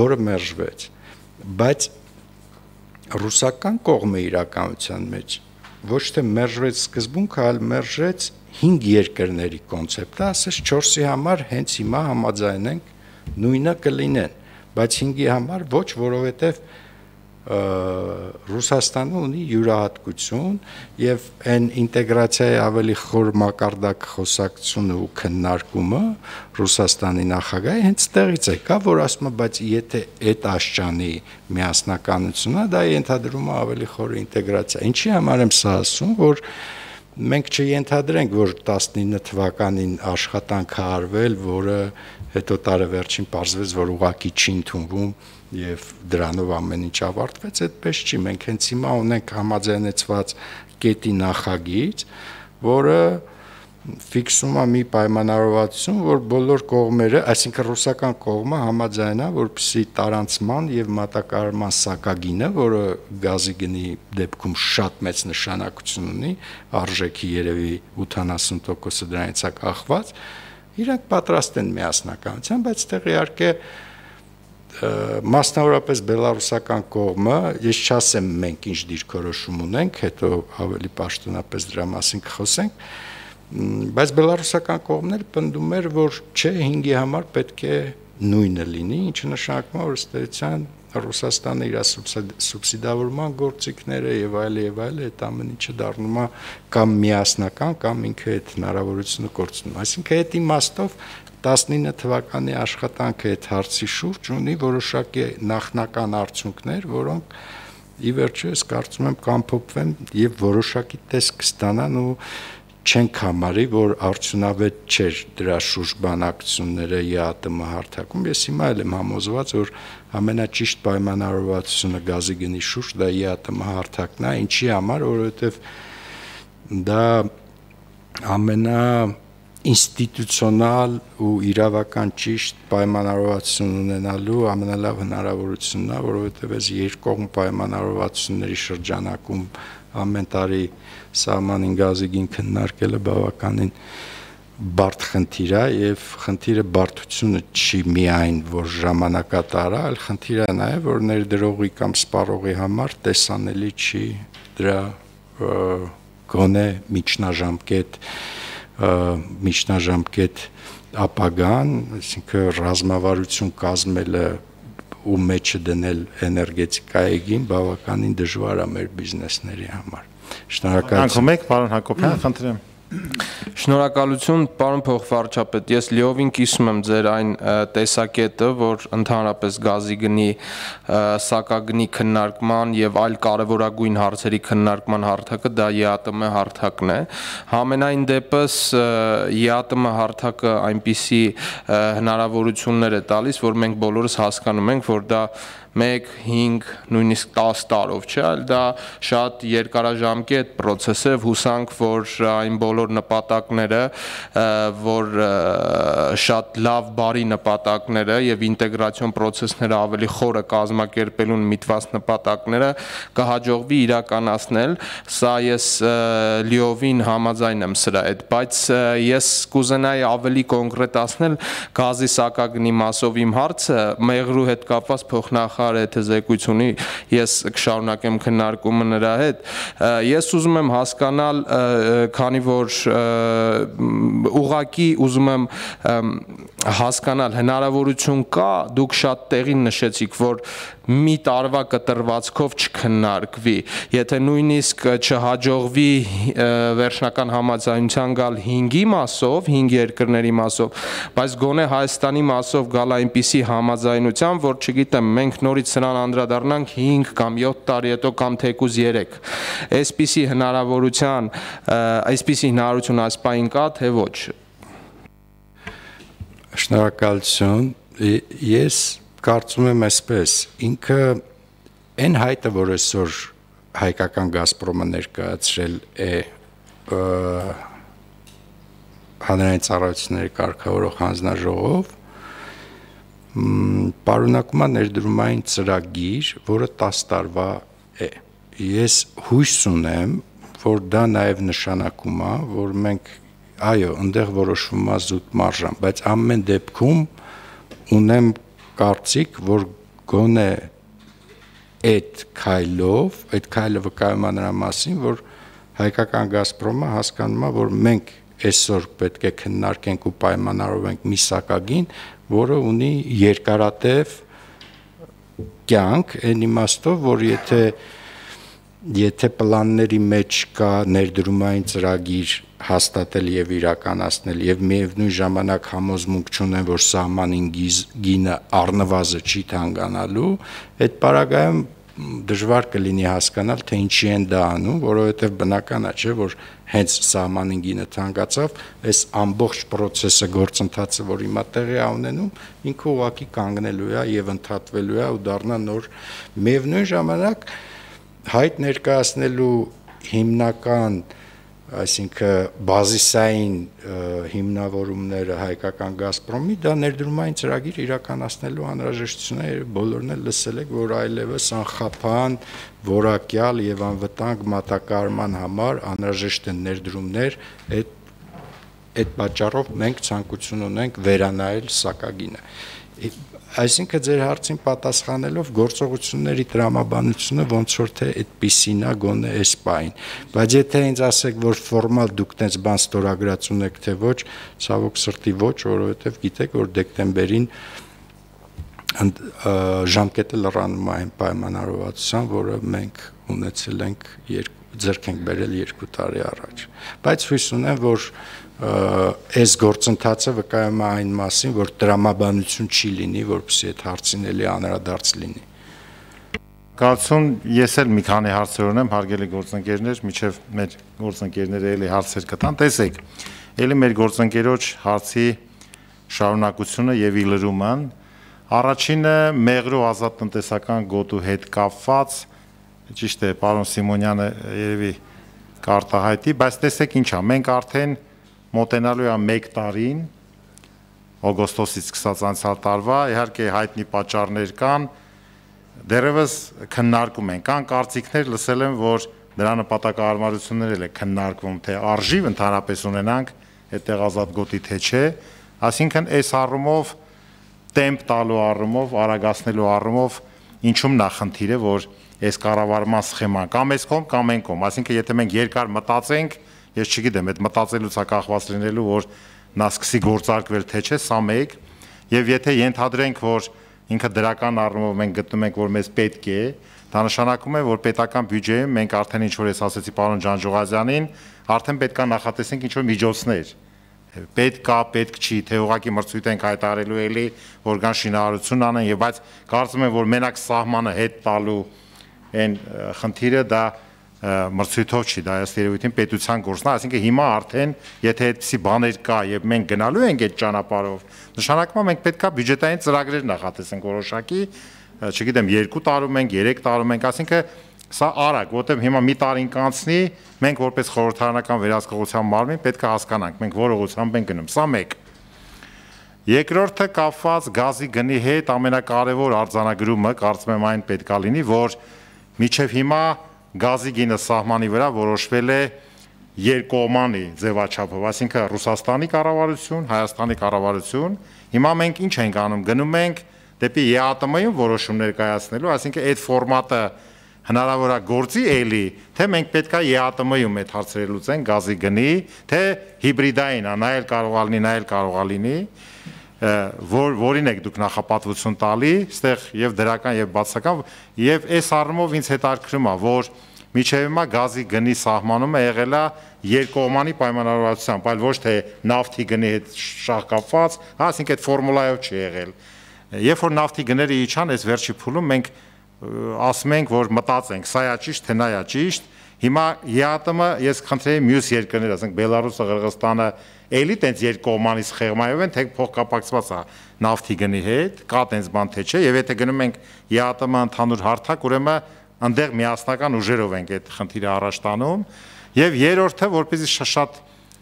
որը մերժվեց, բայց ռուսական կողմը իրականության մեջ ոչ թե մերժվեց սկզբունքը, այլ մերժեց 5 երկրների կոնցեպտը, ասես 4-ի համար հենց հիմա համաձայնենք նույնը կլինեն, բայց 5-ի համար ոչ, որովհետև Ռուսաստանը ունի յուրահատկություն եւ այն ինտեգրացիայի ավելի խոր մակարդակ խոսակցությունը ու քննարկումը Ռուսաստանի նախագահի հենց տեղից է կա, որ ասում է, բայց եթե այդ աշճանի միասնականությունն է, դա ենթադրում է ավելի խոր ինտեգրացիա։ Ինչի համար եմ սա ասում, որ մենք չենթադրենք, որ 19 թվականին աշխատանք է արվել, որը հետո տարեվերջին պարզվեց, որ ուղղակի չի ընդունվում եւ դրանով ամեն ինչ ավարտվեց, այդպես չի, մենք հենց հիմա ունենք համաձայնեցված կետի նախագիծ, որը ֆիքսում է մի պայմանավորվածություն, որ բոլոր կողմերը, այսինքն ռուսական կողմը համաձայնա, որպեսզի տարանցման եւ մատակարարման սակագինը, որը գազի գնի դեպքում շատ մեծ նշանակություն ունի, արժեքի երևի 80%-ը դրանից է կախված, իրանք պատրաստ են միասնականության, բայց տեղ իհարկե մասնավորապես բելարուսական կողմը, ես չասեմ մենք ինչ դիրքորոշում ունենք, հետո ավելի պաշտոնապես դրա մասին կխոսենք, բայց բելարուսական կողմն էլ պնդում էր, որ չէ 5-ի համար պետք է նույնը լինի, ինչը նշանակում է, որ ըստ էության Ռուսաստանը իր սուբսիդավորման գործիքները եւ այլ այդ ամեն ինչը դառնում է կամ միասնական, կամ ինքը այդ հնարավորությունը կորցնում։ Այսինքն այդ իմաստով 19 թվականի աշխատանքը այդ հարցի շուրջ ունի որոշակի նախնական արդյունքներ, որոնք ի վերջո ես կարծում եմ կամփոփվեն եւ որոշակի տեսք կստանան ու չենք համարի, որ արդյունավետ չէր դրա շուրջ բանակցությունները ԵԱՏՄ հարթակում։ Ես հիմա էլ եմ համոզված, որ ամենաճիշտ պայմանավորվածությունը գազի գնի շուրջ դա ԵԱՏՄ հարթակն է, ինչի համար, որովհետեւ դա ամենա ինստիտուցիոնալ ու իրավական ճիշտ պայմանավորվածություն ունենալու ամենալավ հնարավորությունն է, որովհետև այս երկկողմ պայմանավորվածությունների շրջանակում ամեն տարի սահմանին գազի գին քննարկելը բավականին բարդ խնդիր է եւ խնդիրը բարդությունը չի միայն որ ժամանակատար է, այլ խնդիրը նաեւ որ ներդրողի կամ սպառողի համար տեսանելի չի դրա գոնե միջնաժամկետ ապագան, այսինքն ռազմավարություն կազմելը ու մեջը դնել էներգետիկայեգին բավականին դժվար է մեր բիզնեսների համար։ Շնորհակալություն։ Պարոն Հակոբյան, խնդրեմ։ Շնորհակալություն, պարոն փոխվարչապետ, ես լիովին կիսում եմ ձեր այն տեսակետը, որ ընդհանրապես գազի գնի սակագնի քննարկման եւ այլ կարեւորագույն հարցերի քննարկման հարթակը դա ԵԱՏՄ հարթակն է։ Համենայն դեպս ԵԱՏՄ հարթակը այնպիսի հնարավորություններ է տալիս, որ մենք բոլորս հասկանում ենք, որ դա 1, 5, նույնիսկ 10 տարով չէ, այլ դա շատ երկարաժամկետ process է, հուսանք, որ այն բոլոր նպատակները, որ շատ լավ բարի նպատակները եւ ինտեգրացիոն process-ները ավելի խորը կազմակերպելուն միտված նպատակները կհաջողվի իրականացնել, սա ես լիովին համաձայն եմ սրա հետ, բայց ես կուզենայի ավելի կոնկրետացնել գազի սակագնի մասով իմ հարցը մեղրու հետ կապված փոխնախ եթե զեկույցունի ես կշարունակեմ քննարկումը նրա հետ ես ուզում եմ հասկանալ քանի որ ուղղակի ուզում եմ հասկանալ հնարավորություն կա դուք շատ տեղին նշեցիք որ մի տարվա կտրվածքով չքննարկվի եթե նույնիսկ չհաջողվի վերջնական համաձայնության գալ 5-ի մասով 5 երկրների մասով բայց գոնե Հայաստանի մասով գալ այնպիսի համաձայնության որ չգիտեմ մենք նորից սրան անդրադառնանք 5 կամ 7 տարի հետո կամ թեկուզ 3 այսպիսի հնարավորություն այս պահին կա թե ոչ Շնորհակալություն ես կարծում եմ այսպես ինքը այն հայտը որ այսօր հայկական Գազպրոմը ներկայացրել է հանրային ծառայությունների կարգավորող հանձնաժողով պարունակում է ներդրումային ծրագիր, որը 10 տարվա է։ Ես հույս ունեմ, որ դա նաև նշանակում է, որ մենք այո, այնտեղ որոշվում է զուտ մարժան, բայց ամեն դեպքում ունեմ կարծիք, որ գոնե այդ քայլը վկայում է նրա մասին, որ հայկական «Գազպրոմը» հասկանում է, որ մենք այսօր պետք է քննարկենք ու պայմանավորվենք մի սակագին, որը ունի երկարատև կյանք, այն իմաստով, որ եթե պլանների մեջ կա ներդրումային ծրագիր հաստատել եւ իրականացնել եւ միևնույն ժամանակ համոզմունք չունեն, որ սահմանին գինը առնվազն չի թանկանալու, այդ պարագայում դժվար կլինի հասկանալ, թե ինչի են դա անում, որովհետև բնական է, չէ, որ հենց սահմանին գինը թանկացավ, այս ամբողջ process-ը գործընթացը, որ հիմա տեղի է ունենում, ինքը ուղղակի կանգնելու է եւ ընդհատվելու է ու դառնա նոր։ Միևնույն ժամանակ հայտ ներկայացնելու հիմնական, այսինքն բազիսային հիմնավորումները հայկական «Գազպրոմի» դա ներդրումային ծրագիր իրականացնելու անհրաժեշտությունը բոլորն էլ լսել եք, որ այլևս անխափան, որակյալ եւ անվտանգ մատակարարման համար անհրաժեշտ են ներդրումներ, այդ պատճառով մենք ցանկություն ունենք վերանայել սակագինը։ Այսինքն ձեր հարցին պատասխանելով գործողությունների տրամաբանությունը ոնց որ թե այդպիսին է գոնե այս պահին, բայց եթե ինձ ասեք, որ ֆորմալ դուք տենց բան ստորագրած ունեք թե ոչ, ցավոք սրտի ոչ, որովհետև գիտեք, որ դեկտեմբերին ժամկետը լրանում է այն պայմանավորվածության, որը մենք ունեցել ենք ձեռք ենք բերել 2 տարի առաջ, բայց հույս ունեմ, որ այս գործընթացը վկայում է այն մասին, որ տրամաբանություն չի լինի, որպեսզի այդ հարցին էլի անդրադարձ լինի։ Կարծում ես էլ մի քանի հարցեր ունեմ, հարգելի գործընկերներ, միջև մեր գործընկերները էլի հարցեր կտան, տեսեք, էլի մեր գործընկերոջ հարցի շարունակությունը եւ իլրումը, առաջինը մեղրու ազատ տնտեսական գոտու հետ կապված, ճիշտ է, պարոն Սիմոնյանը երևի կարտահայտի, բայց տեսեք ինչ է, մենք արդեն մոտենալու է 1 տարին, օգոստոսից սկսած անցյալ տարվա, իհարկե հայտնի պատճառներ կան, դեռևս քննարկում են, կան կարծիքներ, լսել եմ, որ դրա նպատակահարմարություններ էլ է քննարկվում, թե արժի ընդհանրապես ունենանք այդտեղ ազատ գոտի թե չէ, այսինքն այս առումով տեմպ տալու առումով, արագացնելու առումով ինչում նախնդիր է, որ այս կառավարման սխեման կամ այս կողմ կամ այն կողմ, այսինքն եթե մենք երկար մտածենք, ես չգիտեմ, այդ մտածելուց է կախված լինելու, որ նա սկսի գործարկվել թե չէ, սա մեկ, եւ եթե ենթադրենք, որ ինքը դրական առումով մենք գտնում ենք, որ մեզ պետք է, դա նշանակում է, որ պետական բյուջեում մենք արդեն ինչ որ ես ասեցի պարոն Ջանջուղազյանին, արդեն պետք է նախատեսենք ինչ որ միջոցներ։ Պետք չի, թե ուղղակի մրցույթ ենք հայտարարելու էլի, որ կան շինարարություն անեն, եւ բայց կարծում եմ, որ մենակ սահմանը հետ տալու այն խնդիրը դա մրցույթով չի, դա ըստ երևույթին պետության գործն է, այսինքն հիմա արդեն եթե այդպիսի բաներ կա եւ մենք գնալու ենք այդ ճանապարհով, նշանակում է մենք պետքա բյուջետային ծրագրեր նախատեսենք որոշակի, չգիտեմ, 2 տարում ենք, 3 տարում ենք, այսինքն սա արագ, որտեղ հիմա մի տարին կանցնի, մենք որպես խորհրդարանական վերահսկողության մարմին պետք է հասկանանք, մենք որ ուղղությամբ ենք գնում, սա մեկ։ Երկրորդը կապված գազի գնի հետ ամենակարևոր արձանագրումը, կարծում եմ այն պետք է լինի, որ մինչև հիմա գազի գինը սահմանի վրա որոշվել է երկկողմանի ձևաչափով, այսինքն Ռուսաստանի կառավարություն, Հայաստանի կառավարություն, հիմա մենք ինչ ենք անում, գնում ենք դեպի ԵԱՏՄ-ում որոշումներ կայացնելու, այսինքն այդ ֆորմատը հնարավոր է գործի էլի, թե մենք պետք է ԵԱՏՄ-ում այդ հարցերը լուծենք գազի գնի, թե հիբրիդային է, նա էլ կարող է լինի, նա էլ կարող է լինի, որին եք դուք նախապատվություն տալի, ստեղ եւ դրական եւ բացական, եւ այս առումով ինձ հետաքրքրում է, որ միջև հիմա գազի գնի սահմանումը եղել է երկկողմանի պայմանավորվածությամբ, այլ ոչ թե նավթի գնի հետ շահկապված, այսինքն այդ ֆորմուլայով չի եղել։ Երբ որ նավթի գները իջան, այս վերջի փուլում մենք ասում ենք, որ մտածենք, սա է ճիշտ, թե նա է ճիշտ։ Հիմա ԵԱՏՄ ես խնդրեի մյուս երկրներ, ասենք Բելարուսը, Ղրղստանը, էլի տենց երկկողմանի սխեղմայով են, թե փոխկապակցված է նավթի գնի հետ, կա տենց բան թե չէ, եւ եթե գնում ենք ԵԱՏՄ ընդհանուր հարթակ, ուրեմն այնտեղ միասնական ուժերով ենք այդ խնդիրը առաջ տանում, եւ երրորդը, որպեսզի շատ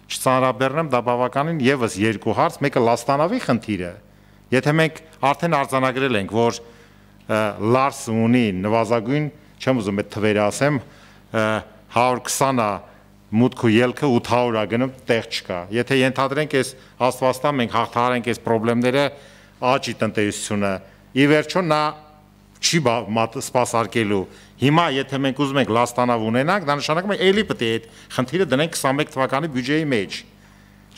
չծանրաբեռնեմ, դա բավականին եւս երկու հարց, մեկը Լաստանավի խնդիրը։ Եթե մենք արդեն արձանագրել ենք, որ Լարսը ունի նվազագույն, չեմ ուզում այդ թվերը ասեմ, 120-ը մուտք ու ելքը 800-ը գնում, տեղ չկա։ Եթե ենթադրենք այս աստվածտա մենք հաղթահարենք այս խնդիրները, աճի տնտեսությունը, ի վերջո նա չի սպասարկելու։ Հիմա եթե մենք ուզում ենք Լաստանավ ունենանք, դա նշանակում է էլի պետք է այդ խնդիրը դնենք 21 թվականի բյուջեի մեջ։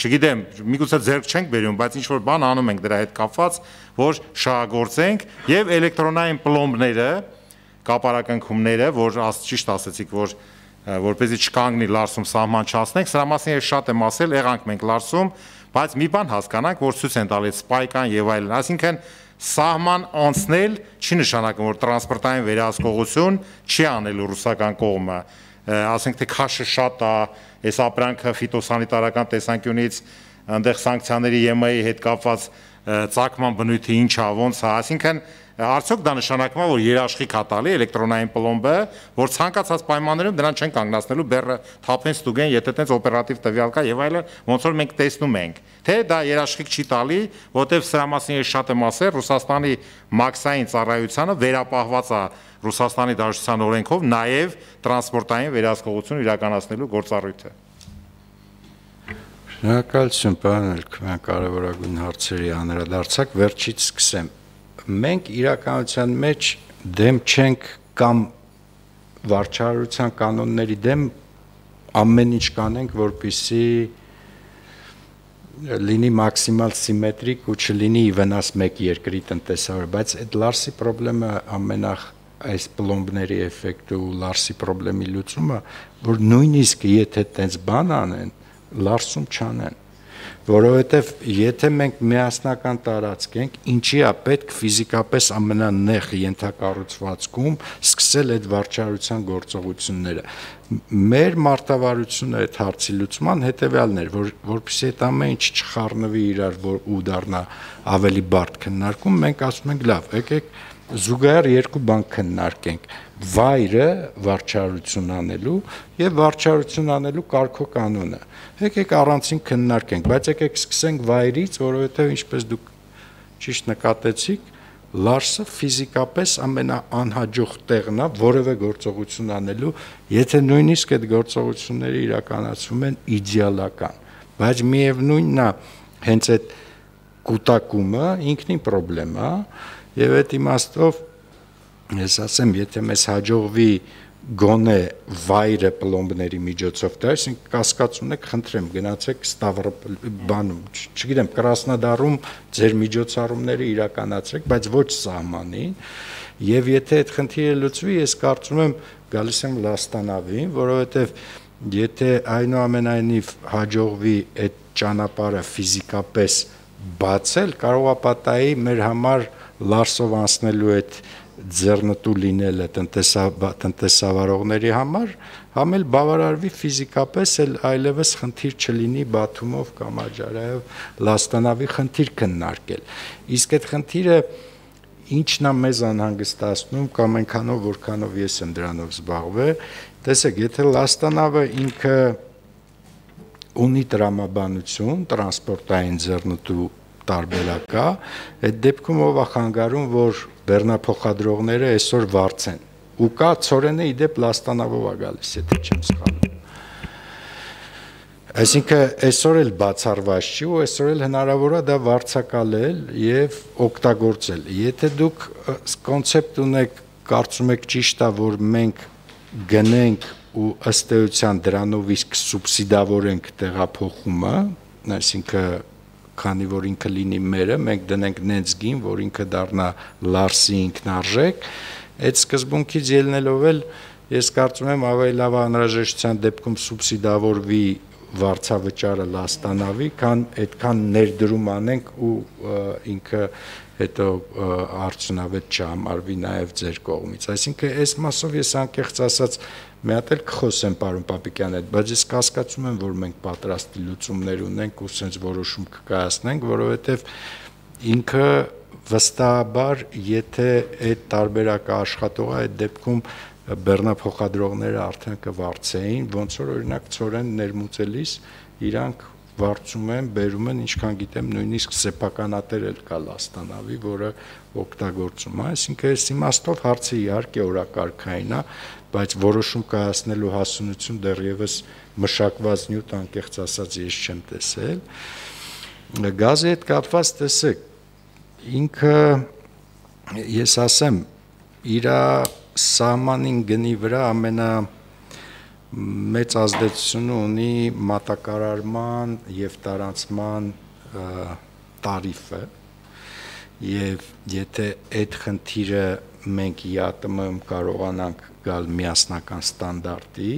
Չգիտեմ, միգուցե ձեռք չենք բերում, բայց ինչ որ բան անում ենք դրա հետ կապված, որ շահագործենք եւ էլեկտրոնային պլոմբները, կապարակնքումները, որ ճիշտ ասեցիք, որ որպեսզի չկանգնի Լարսում սահման չանցնենք, սրա մասին ես շատ եմ ասել, եղանք մենք Լարսում, բայց մի բան հասկանանք, որ ցույց են տալիս սպայկան եւ այլն, այսինքն սահման անցնել չի նշանակում, որ տրանսպորտային վերահսկողություն չի անելու ռուսական կողմը, ասենք թե քաշը շատ է, այս ապրանքը ֆիտոսանիտարական տեսանկյունից այնտեղ սանկցիաների ԵՄ-ի հետ կապված ծագման բնույթը ինչ է, ոնց է, այսինքն արդյոք դա նշանակում է, որ երաշխիք է տալի էլեկտրոնային պլոմբը, որ ցանկացած պայմաններում դրան չեն կանգնացնելու, բեռը թափեն ստուգեն, եթե տենց օպերատիվ տվյալ կա եւ այլն, ոնց որ մենք տեսնում ենք, թե դա երաշխիք չի տալի, որտեվ սրա մասին ես շատ եմ ասել, Ռուսաստանի մաքսային ծառայությանը վերապահված է Ռուսաստանի Դաշնության օրենքով նաեւ տրանսպորտային վերահսկողություն իրականացնելու գործառույթը։ Շնորհակալություն, պարոն Էլքման, կարևորագույն հարցերի անդրադարձակ, վերջից սկսեմ։ Մենք իրականության մեջ դեմ չենք կամ վարչարարության կանոնների դեմ ամեն ինչ կանենք, որպեսզի լինի մաքսիմալ սիմետրիկ ու չլինի վնաս մեկ երկրի տնտեսավար, բայց այդ Լարսի խնդրը ամենախ այս պլոմբների էֆեկտը ու Լարսի խնդրի լուծումը, որ նույնիսկ եթե տենց բան անեն, Լարսում չանեն, որովհետև եթե մենք միասնական տարածք ենք, ինչի է պետք ֆիզիկապես ամենանեղ ենթակառուցվածքում սկսել այդ վարչարության գործողությունները։ Մեր մարտավարությունը այդ հարցի լուծման հետևյալն էր, որպեսզի այդ ամեն ինչ չխառնվի իրար ու դառնա ավելի բարդ քննարկում, մենք ասում ենք լավ, եկեք զուգահեռ երկու բան քննարկենք՝ վայրը վարչարություն անելու եւ վարչարություն անելու կարգոկանոնը։ Եկեք առանցին քննարկենք, բայց եկեք սկսենք վայրից, որովհետեւ ինչպես դուք ճիշտ նկատեցիք, Լարսը ֆիզիկապես ամենաանհաջող տեղն է որևէ գործողություն անելու, եթե նույնիսկ այդ գործողությունները իրականացվում են իդեալական, բայց միևնույնն է, հենց այդ կուտակումը ինքնին խնդրեմ է, եւ այդ իմաստով ես ասեմ, եթե մեզ հաջողվի գոնե վայրը պլոմբների միջոցով դա, այսինքն կասկածում եք, խնդրեմ, գնացեք բանում, չգիտեմ, Կրասնոդարում ձեր միջոցառումները իրականացրեք, բայց ոչ սահմանին, եւ եթե այդ խնդիրը լուծվի, ես կարծում եմ գալիս եմ Լաստանավին, որովհետեւ եթե այնուամենայնիվ հաջողվի այդ ճանապարհը ֆիզիկապես բացել, կարող է պատահի մեր համար Լարսով անցնելու այդ ձեռնտու լինելը տնտեսավարողների համար, համ էլ բավարարվի ֆիզիկապես, այլևս խնդիր չլինի Բաթումով կամ Աջարայով Լաստանավի խնդիր քննարկել։ Իսկ այդ խնդիրը ինչն է մեզ անհանգստացնում կամ այնքանով, որքանով ես եմ դրանով զբաղվել, տեսեք, եթե Լաստանավը ինքը ունի տրամաբանություն, տրանսպորտային ձեռնտու տարբերակա, այդ դեպքում ով է խանգարում, որ բեռնափոխադրողները այսօր վարձեն։ Ու կա ծորենը իդեպ Լաստանավով է գալիս, եթե չեմ սխալվում։ Այսինքն այսօր էլ բացառված չի ու այսօր էլ հնարավոր է դա վարձակալել եւ օգտագործել։ Եթե դուք կոնցեպտ ունեք, կարծում եք ճիշտ է, որ մենք գնենք ու ըստ էության դրանով իսկ սուբսիդավորենք տեղափոխումը, այսինքն քանի որ ինքը լինի մերը, մենք դնենք նենց գին, որ ինքը դառնա Լարսի ինքնարժեք, այդ սկզբունքից ելնելով էլ ես կարծում եմ ավելի լավ անհրաժեշտության դեպքում սուբսիդավորվի վարձավճարը Լաստանավի, քան այդքան ներդրում անենք ու ինքը հետո արդյունավետ չհամարվի նաև ձեր կողմից։ Այսինքն այս մասով ես անկեղծ ասած մի հատ էլ կխոսեմ պարոն Պապիկյան հետ, բայց ես կասկածում եմ, որ մենք պատրաստի լուծումներ ունենք ու sense որոշում կկայացնենք, որովհետև ինքը վստահաբար, եթե այդ տարբերակը աշխատող է, այդ դեպքում բեռնափոխադրողները արդեն կվարձեին, ոնց որ օրինակ ծորեն ներմուծելիս իրանք վարձում են, բերում են, ինչքան գիտեմ, նույնիսկ սեփականատեր էլ կա Լաստանավի, որը օգտագործում է, այսինքն այս իմաստով հարցը իհարկե օրակարգային է, բայց որոշում կայացնելու հասունություն դեռևս մշակված նյութ անկեղծ ասած ես չեմ տեսել։ Գազի հետ կապված տեսեք, ինքը ես ասեմ, իր սահմանին գնի վրա մեծ ազդեցություն ունի մատակարարման եւ տարանցման տարիֆը եւ եթե այդ խնդիրը մենք ԵԱՏՄ-ում կարողանանք գալ միասնական ստանդարտի,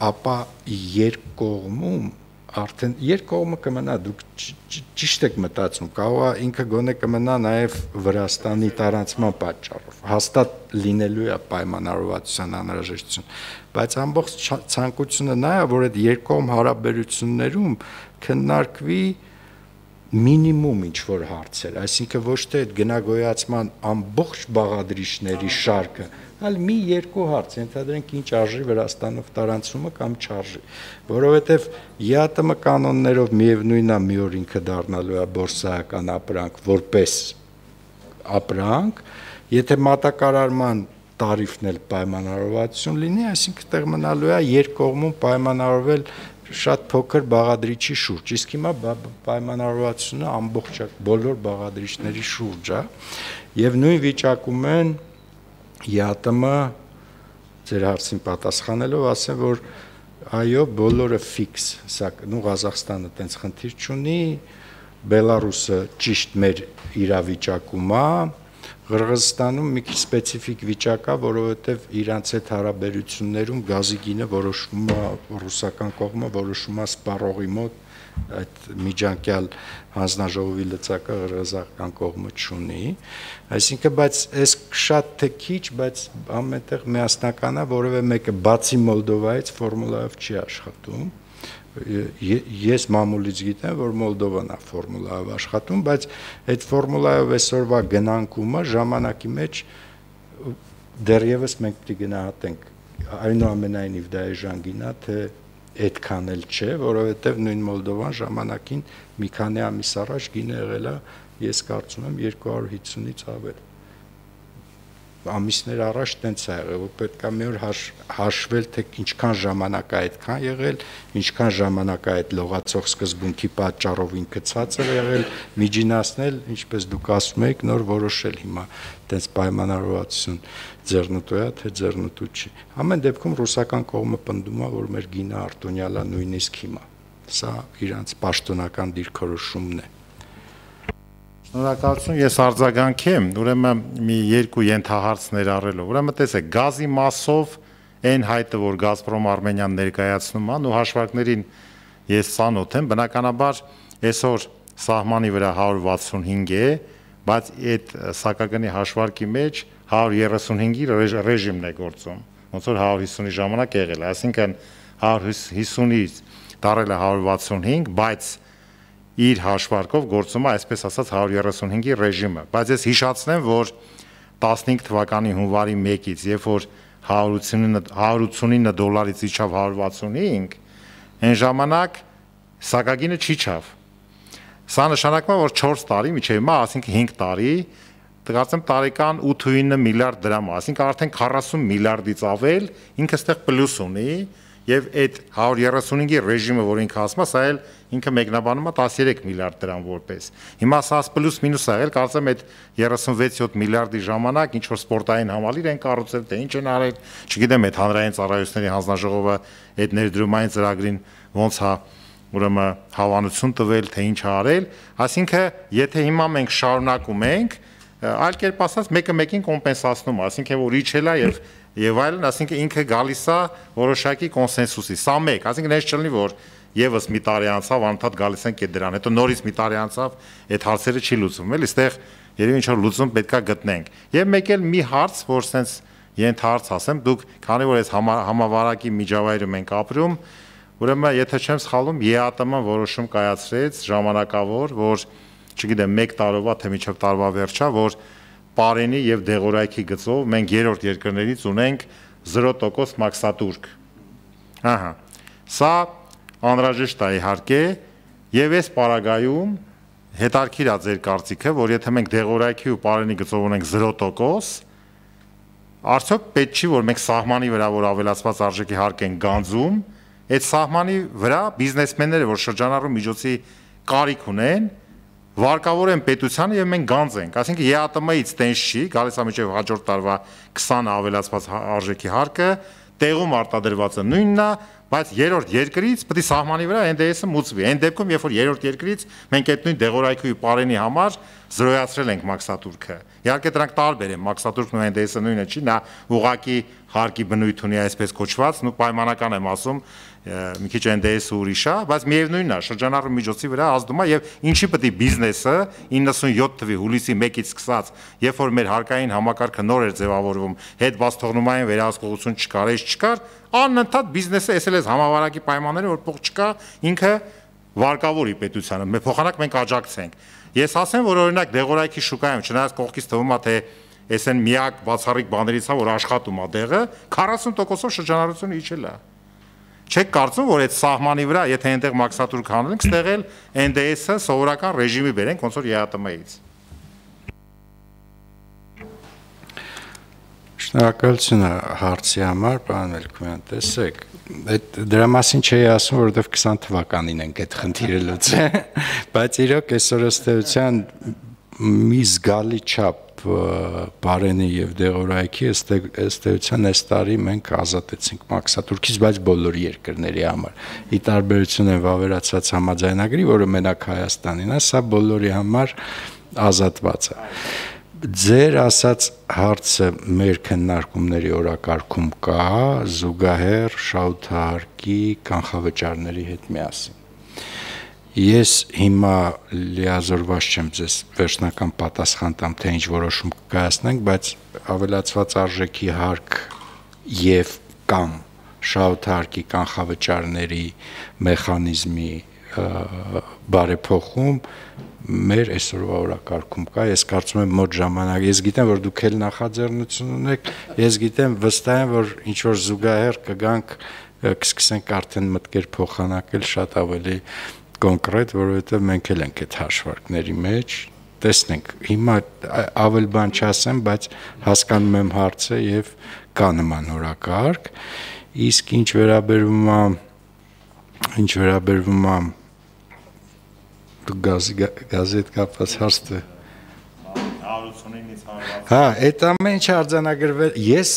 ապա երկկողմում արդեն երկկողմը կմնա, դուք ճիշտ եք մտածում, կարող է ինքը գոնե կմնա նաև Վրաստանի տարանցման պատճառով, հաստատ լինելու է պայմանավորվածության անհրաժեշտություն, բայց ամբողջ ցանկությունը նա է, որ այդ երկկողմ հարաբերություններում քննարկվի մինիմում ինչ-որ հարցեր, այսինքն ոչ թե այդ գնագոյացման ամբողջ բաղադրիչների շարքը, այլ մի երկու հարց, ենթադրենք ինչ արժի Վրաստանով տարանցումը կամ չարժի, որովհետև ԵԱՏՄ կանոններով միևնույնն է մի օր ինքը դառնալու է բորսայական ապրանք, որպես ապրանք, եթե մատակարարման տարիֆն էլ պայմանավորվածություն լինի, այսինքն տեղ մնալու է երկկողմում պայմանավորվել շատ փոքր բաղադրիչի շուրջ, իսկ հիմա պայմանավորվածությունը ամբողջ բոլոր բաղադրիչների շուրջ է, եւ նույն վիճակում են ԵԱՏՄ ձեր հարցին պատասխանելով ասեմ, որ այո, բոլորը ֆիքս, սակայն Ղազախստանը տենց խնդիր չունի, Բելարուսը ճիշտ մեր իրավիճակում է, Ղրղզստանում մի քիչ սպეციფიկ վիճակ է, որովհետև իրանց այդ հարաբերություններում գազի գինը որոշվում է ռուսական կողմը որոշում է սպառողի մոտ, այդ միջանկյալ հանձնաժողովի լծակը ղրղզական կողմը չունի, այսինքն բայց այս շատ թե քիչ, բայց ամենտեղ միասնական է, որովհետև մեկը բացի Մոլդովայից ֆորմուլայով չի աշխատում։ Ես մամուլից գիտեմ, որ Մոլդովան է ֆորմուլայով աշխատում, բայց այդ ֆորմուլայով այսօրվա գնանկումը ժամանակի մեջ դեռևս մենք պետք է գնահատենք, այնուամենայնիվ դա էժան է, թե այդքան էլ չէ, որովհետև նույն Մոլդովան ժամանակին մի քանի ամիս առաջ գինը եղել է, ես կարծում եմ 250-ից ավել։ Ամիսներ առաջ տենց է եղել, որ պետք է մի օր հաշվել, թե ինչքան ժամանակ է այդքան եղել, ինչքան ժամանակ է այդ լողացող սկզբունքի պատճառով ինքը ցածր եղել, միջինացնել, ինչպես դուք ասում եք, նոր որոշել հիմա տենց պայմանավորվածություն ձեռնտու է, թե ձեռնտու չի։ Ամեն դեպքում ռուսական կողմը պնդում է, որ մեր գինը արտոնյալ է նույնիսկ հիմա։ Սա իրանց պաշտոնական դիրքորոշումն է։ Շնորհակալություն, ես արձագանքեմ, ուրեմն մի երկու ենթահարց ներառելով։ Ուրեմն տեսեք, գազի մասով այն հայտը, որ Գազպրոմ Արմենիան ներկայացնում է, ու հաշվարկներին ես ծանոթ եմ, բնականաբար այսօր սահմանի վրա 165 է, բայց այդ սակագնի հաշվարկի մեջ 135-ի ռեժիմն է գործում, ոնց որ 150-ի ժամանակ եղել է, այսինքն 150-ից դարել է 165, բայց իր հաշվարկով գործում է, այսպես ասած 135-ի ռեժիմը, բայց ես հիշացնեմ, որ 15 թվականի հունվարի 1-ից, երբ որ 189 դոլարից իջավ 165, այն ժամանակ սակագինը չիջավ։ Սա նշանակում է, որ 4 տարի միջև հիմա, այսինքն 5 տարի, կարծեմ տարեկան 8-9 միլիարդ դրամ, այսինքն արդեն 40 միլիարդից ավել ինքը ստեղ պլյուս ունի, եւ այդ 135-ի ռեժիմը, որ ինքը ասում է, սա էլ ինքը մեկնաբանում է 13 միլիարդ դրամ որպես։ Հիմա սա պլյուս մինուս ա եղել, կարծեմ այդ 36-7 միլիարդի ժամանակ ինչ որ սպորտային համալիր են կառուցել, թե ինչ են արել, չգիտեմ այդ հանրային ծառայությունների հանձնաժողովը այդ ներդրումային ծրագրին ոնց է ուրեմն հավանություն տվել, թե ինչ է արել, այսինքն եթե հիմա մենք շարունակում ենք, այլ կերպ ասած մեկը մեկին կոմպենսացնում, այսինքն որ իջել է եւ այլն, այսինքն ինքը գալիս է որոշակի կոնսենսուսի։ Սա մեկ, այսինքն այս չլինի, որ եւս մի տարի անցավ, անդադ գալիս ենք այդ դրան, հետո նորից մի տարի անցավ, այդ հարցերը չի լուծվում, էլի, այստեղ երևի ինչ որ լուծում պետքա գտնենք։ Եվ մեկ էլ մի հարց, որ sense ենթահարց ասեմ, դուք քանի որ այս համավարակի միջավայրում ենք ապրում, ուրեմն եթե չեմ սխալվում, ԵԱՏՄ-ն որոշում կայացրեց ժամանակավոր, որ չգիտեմ 1 տարվա թե մինչև տարվա վերջա, որ Պարենի եւ Դեղորայքի գծով մենք երրորդ երկրներից ունենք 0% մաքսատուրք։ Ահա։ Սա անհրաժեշտ է իհարկե, եւ այս պարագայում հետարքիր է ձեր կարծիքը, որ եթե մենք դեղորայքի ու պարենի գծով ունենք 0%, արդյոք պետք չի, որ մենք սահմանի վրա, որ ավելացված արժեքի հարկ են գանձում, այդ սահմանի վրա բիզնեսմենները, որ շրջանառու միջոցի կարիք ունեն, վարկավորեն պետությանը եւ մենք գանձենք, այսինքն ԵԱՏՄ-ից տենց չի, գալիս է մինչեւ հաջորդ տարվա 20 ավելացված արժեքի հարկը, տեղում արտադրվածը նույնն է, բայց երրորդ երկրից պետք է սահմանի վրա NDS-ը մուծվի։ Այն դեպքում, երբ որ երրորդ երկրից մենք այդ նույն դեղորայքի ու պարենի համար զրոյացրել ենք մաքսատուրքը։ Իհարկե դրանք տարբեր են, մաքսատուրքն ու NDS-ը նույնը չի, նա ուղղակի հարկի բնույթ ունի այսպես կոչված, ու պայմանական եմ ասում, մի քիչ NDS-ը ուրիշ է, բայց միևնույնն է, շրջանառու միջոցի վրա ազդում է եւ ինչի պետք է բիզնեսը 97 թվի հուլիսի 1-ից սկսած, երբ որ մեր հարկային համակարգը նոր էր ձևավորվում, հետ բաց թողնումային վերահսկողություն չկար, չկար, անընդհատ բիզնեսը ասել է համավարակի պայմանները, որ փող չկա, ինքը վարկավորի պետությանը, մեր փոխանակ մենք աջակցենք։ Ես ասեմ, որ օրինակ դեղորայքի շուկայում, չնայած կողքից թվում է թե այս են միակ բացառիկ բաներից է, որ աշխատում է դեղը, 40%-ով շրջանառությունը իջել է։ Չեք կարծում, որ այդ սահմանի վրա, եթե այնտեղ մաքսատուրք հանենք, ստեղել NDS-ը սովորական ռեժիմի բերենք, ոնց որ ԵԱՏՄ-ից։ Շնորհակալություն հարցի համար, պարոն Մելքոյան, տեսեք, դրա մասին չէի ասում, որովհետև 20 թվականին ենք այդ խնդիրը լուծել, բայց իրոք այսօր ըստ էության մի զգալի չափ պարենի եւ դեղորայքի ըստ էության այս տարի մենք ազատեցինք մաքսատուրքից, բայց բոլոր երկրների համար։ Ի տարբերություն են վավերացած համաձայնագրի, որը մենակ Հայաստանին է, սա բոլորի համար ազատված է։ Ձեր ասած հարցը մեր քննարկումների օրակարգում կա, զուգահեռ շահութահարկի կանխավճարների հետ միասին։ Ես հիմա լիազորված չեմ ձեզ վերջնական պատասխան տամ, թե ինչ որոշում կկայացնենք, բայց ավելացված արժեքի հարկ եւ կամ շահութահարկի կանխավճարների մեխանիզմի բարեփոխում մեր այսօրվա օրակարգում կա, ես կարծում եմ մոտ ժամանակ, ես գիտեմ, որ դուք էլ նախաձեռնություն ունեք, ես գիտեմ, վստահ եմ, որ ինչ որ զուգահեռ կգանք, կսկսենք արդեն մտքեր փոխանակել շատ ավելի կոնկրետ, որովհետև մենք էլ ենք այդ հաշվարկների մեջ, տեսնենք, հիմա ավել բան չասեմ, բայց հասկանում եմ հարցը եւ կա նման օրակարգ, իսկ ինչ վերաբերվում է գազի հետ կապված հարցը։ 189-ից 160։ Հա, այդ ամեն ինչը արձանագրվել, ես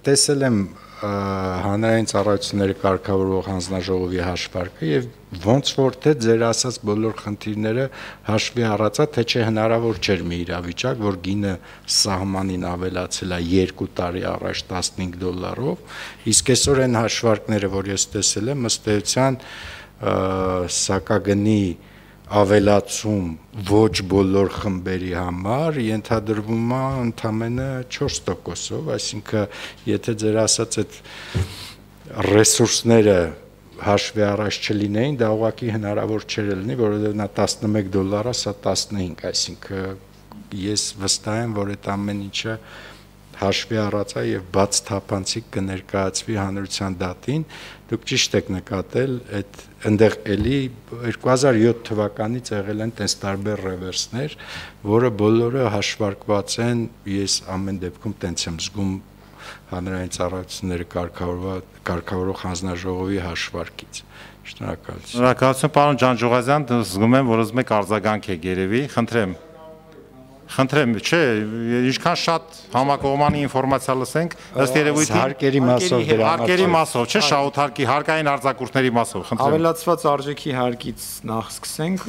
տեսել եմ հանրային ծառայությունների կարգավորող հանձնաժողովի հաշվարկը եւ ոնց որ թե ձեր ասած բոլոր խնդիրները հաշվի առածա, թե չէ հնարավոր չէր մի իրավիճակ, որ գինը սահմանին ավելացել է 2 տարի առաջ $15, իսկ այսօր այն հաշվարկները, որ ես տեսել եմ, ըստ էության սակագնի ավելացում ոչ բոլոր խմբերի համար ենթադրվում է ընդամենը 4%-ով, այսինքն եթե ձեր ասած այդ ռեսուրսները հաշվի առաջ չլինեին, դա ուղղակի հնարավոր չէր լինի, որովհետև նա $11, սա 15, այսինքն ես վստահ եմ, որ այդ ամեն ինչը հաշվի առած է եւ բաց թափանցիկ կներկայացվի հանրության դատին, դուք ճիշտ եք նկատել, այդ այնտեղ էլի 2007 թվականից եղել են տես տարբեր ռևերսներ, որը բոլորը հաշվարկված են, ես ամեն դեպքում տենց եմ զգում հանրային ծառայությունների կարգավորող հանձնաժողովի հաշվարկից։ Շնորհակալություն։ Շնորհակալություն, պարոն Ջանջուղազյան, զգում եմ, որ ուզում եք արձագանք եք երևի, Խնդրեմ, չէ, ինչքան շատ համակողմանի ինֆորմացիա լսենք, ըստ երևույթին հարկերի մասով հարկերի մասով, չէ, շահութարկի հարկային արձակուրդների մասով, խնդրեմ։ Ավելացված արժեքի հարկից նախ սկսենք,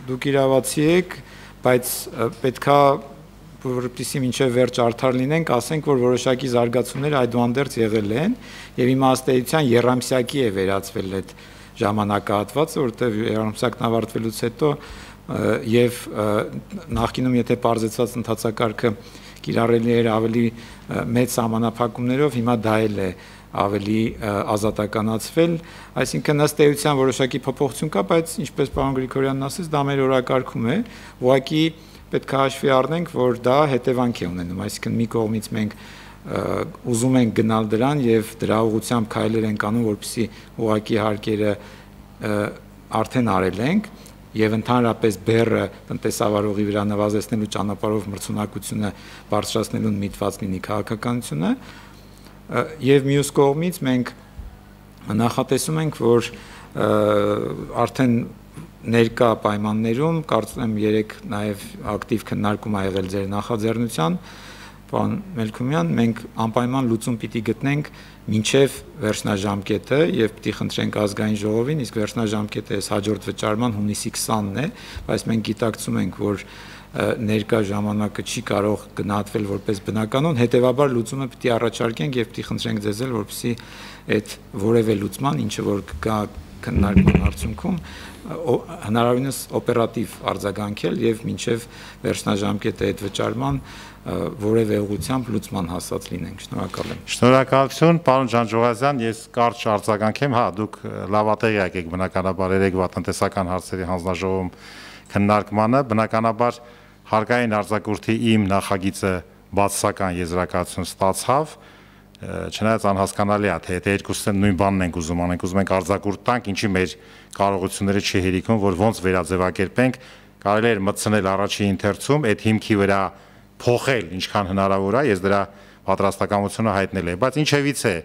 դուք իրավացի եք, բայց պետքա որպեսզի մինչև վերջ արդար լինենք, ասենք, որ որոշակի զարգացումներ այդուհանդերձ եղել են եւ իմաստեյության երամսյակի է վերածվել այդ ժամանակահատվածը, որտեղ երամսյակն ավարտվելուց հետո եւ նախկինում եթե պարզեցված ընթացակարգը կիրառելի էր ավելի մեծ սահմանափակումներով, հիմա դա էլ է ավելի ազատականացվել, այսինքն ըստ էության որոշակի փոփոխություն կա, բայց ինչպես պարոն Գրիգորյանն ասեց, դա մեր օրակարգում է, ուղղակի պետք է հաշվի առնենք, որ դա հետևանք է ունենում, այսինքն մի կողմից մենք ուզում ենք գնալ դրան եւ դրա ուղղությամբ քայլեր ենք անում, որպեսզի ուղղակի հարկերը արդեն արել ենք եւ ընդհանրապես բեռը տնտեսավարողի վրա նվազեցնելու ճանապարհով մրցունակությունը բարձրացնելուն միտված լինի քաղաքականությունը եւ մյուս կողմից մենք նախատեսում ենք, որ արդեն ներկա պայմաններում կարծում եմ 3 նաեւ ակտիվ քննարկում ա եղել ձեր նախաձեռնության պարոն Մելքումյան, մենք անպայման լուծում պիտի գտնենք մինչև վերջնաժամկետը եւ պիտի խնդրենք ազգային ժողովին, իսկ վերջնաժամկետը այս հաջորդ վճարման հունիսի 20-ն է, բայց մենք գիտակցում ենք, որ ներկա ժամանակը չի կարող գնահատվել որպես բնականon, հետեւաբար լուծումը պիտի առաջարկենք եւ պիտի խնդրենք ձեզ էլ, որպեսզի այդ որևէ լուծման, ինչը որ կա քննարկման արդյունքում հնարավորինս օպերատիվ արձագանքել եւ մինչեւ վերջնաժամկետը այդ վճարման որևէ ուղղությամբ լուծման հասած լինենք։ Շնորհակալ եմ։ Շնորհակալություն, պարոն Ջանջուղազյան, ես կարճ արձագանքեմ, հա, դուք լավատեղյակ եք բնականաբար երեկվա տնտեսական հարցերի հանձնաժողովում քննարկմանը, բնականաբար հարկային արձակուրդի իմ նախագիծը բացասական եզրակացություն ստացավ, չնայած անհասկանալի է, թե եթե երկուսը նույն բանն ենք ուզում անենք, ուզում ենք արձակուրդ տանք, ինչի մեր կարողությունները չի հերիքում, որ ոնց վերաձևակերպենք, կարելի էր մտցնել առաջի ընթերցում, այդ հիմքի վրա փոխել ինչքան հնարավոր է, ես դրա պատրաստակամությունը հայտնել եմ, բայց ինչևից է,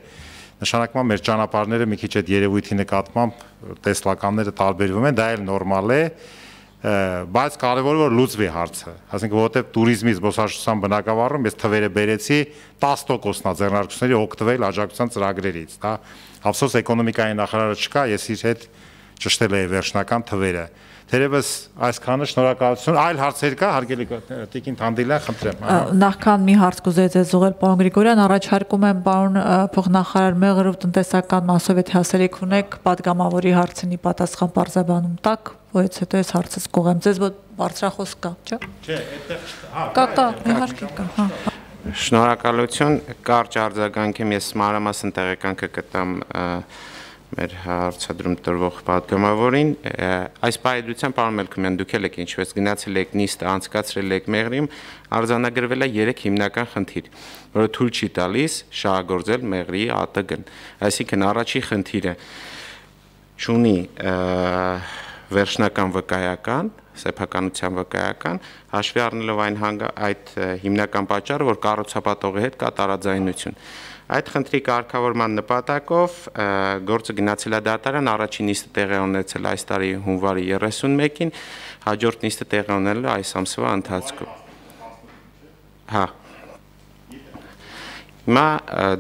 նշանակում է մեր ճանապարհները մի քիչ այդ երևույթի նկատմամբ տեսլականները տարբերվում են, դա էլ նորմալ է, բայց կարևորը որ լուծվի հարցը, ասենք որովհետև туриզմի զբոսաշրջության բնակավարում ես թվերը բերեցի 10%-ն է ձեռնարկությունների օգտվել աջակցության ծրագրերից, դա ափսոս էկոնոմիկայի նախարարը չկա, ես իր հետ ճշտել եմ վերջնական թվերը։ Թերևս այսքանը, շնորհակալություն, այլ հարցեր կա, հարգելի Տիկին Թանդիլյան, խնդրեմ։ Նախքան մի հարց կուզեի ձեզ ուղղել, պարոն Գրիգորյան, առաջարկում եմ պարոն փոխնախարար Մեղրով տնտեսական մասով եթե հասելիք ունեք, падգամավորի հարցինի պատասխան պարզաբանում տակ, որից հետո ես հարցս կուղեմ, ձեզ բարձրախոս կա, չէ՞։ Չէ, այդտեղ կա, իհարկե կա, հա։ Շնորհակալություն, կարճ արձագանքեմ, ես մանրամասն տեղեկանքը կտամ մեր հարցադրում տրվող падգամավորին, այս պայդրության պարոն Մելքումյան, դուք էլ եք ինչպես գնացել եք նիստը, անցկացրել եք Մեղրիում, արձանագրվել է 3 հիմնական խնդիր, որը թույլ չի տալիս շահագործել Մեղրիի ԱՏԳ-ն, այսինքն առաջի խնդիրը չունի վերջնական վկայական, սեփականության վկայական, հաշվի առնելով այդ հիմնական պատճառը, որ կառուցապատողի հետ կա տարաձայնություն։ Այդ խնդրի կարգավորման նպատակով գործը գնացել է դատարան, առաջին նիստը տեղի ունեցել այս տարի հունվարի 31-ին, հաջորդ նիստը տեղի ունեցել այս ամսվա ընթացքում։ Հա։ Հիմա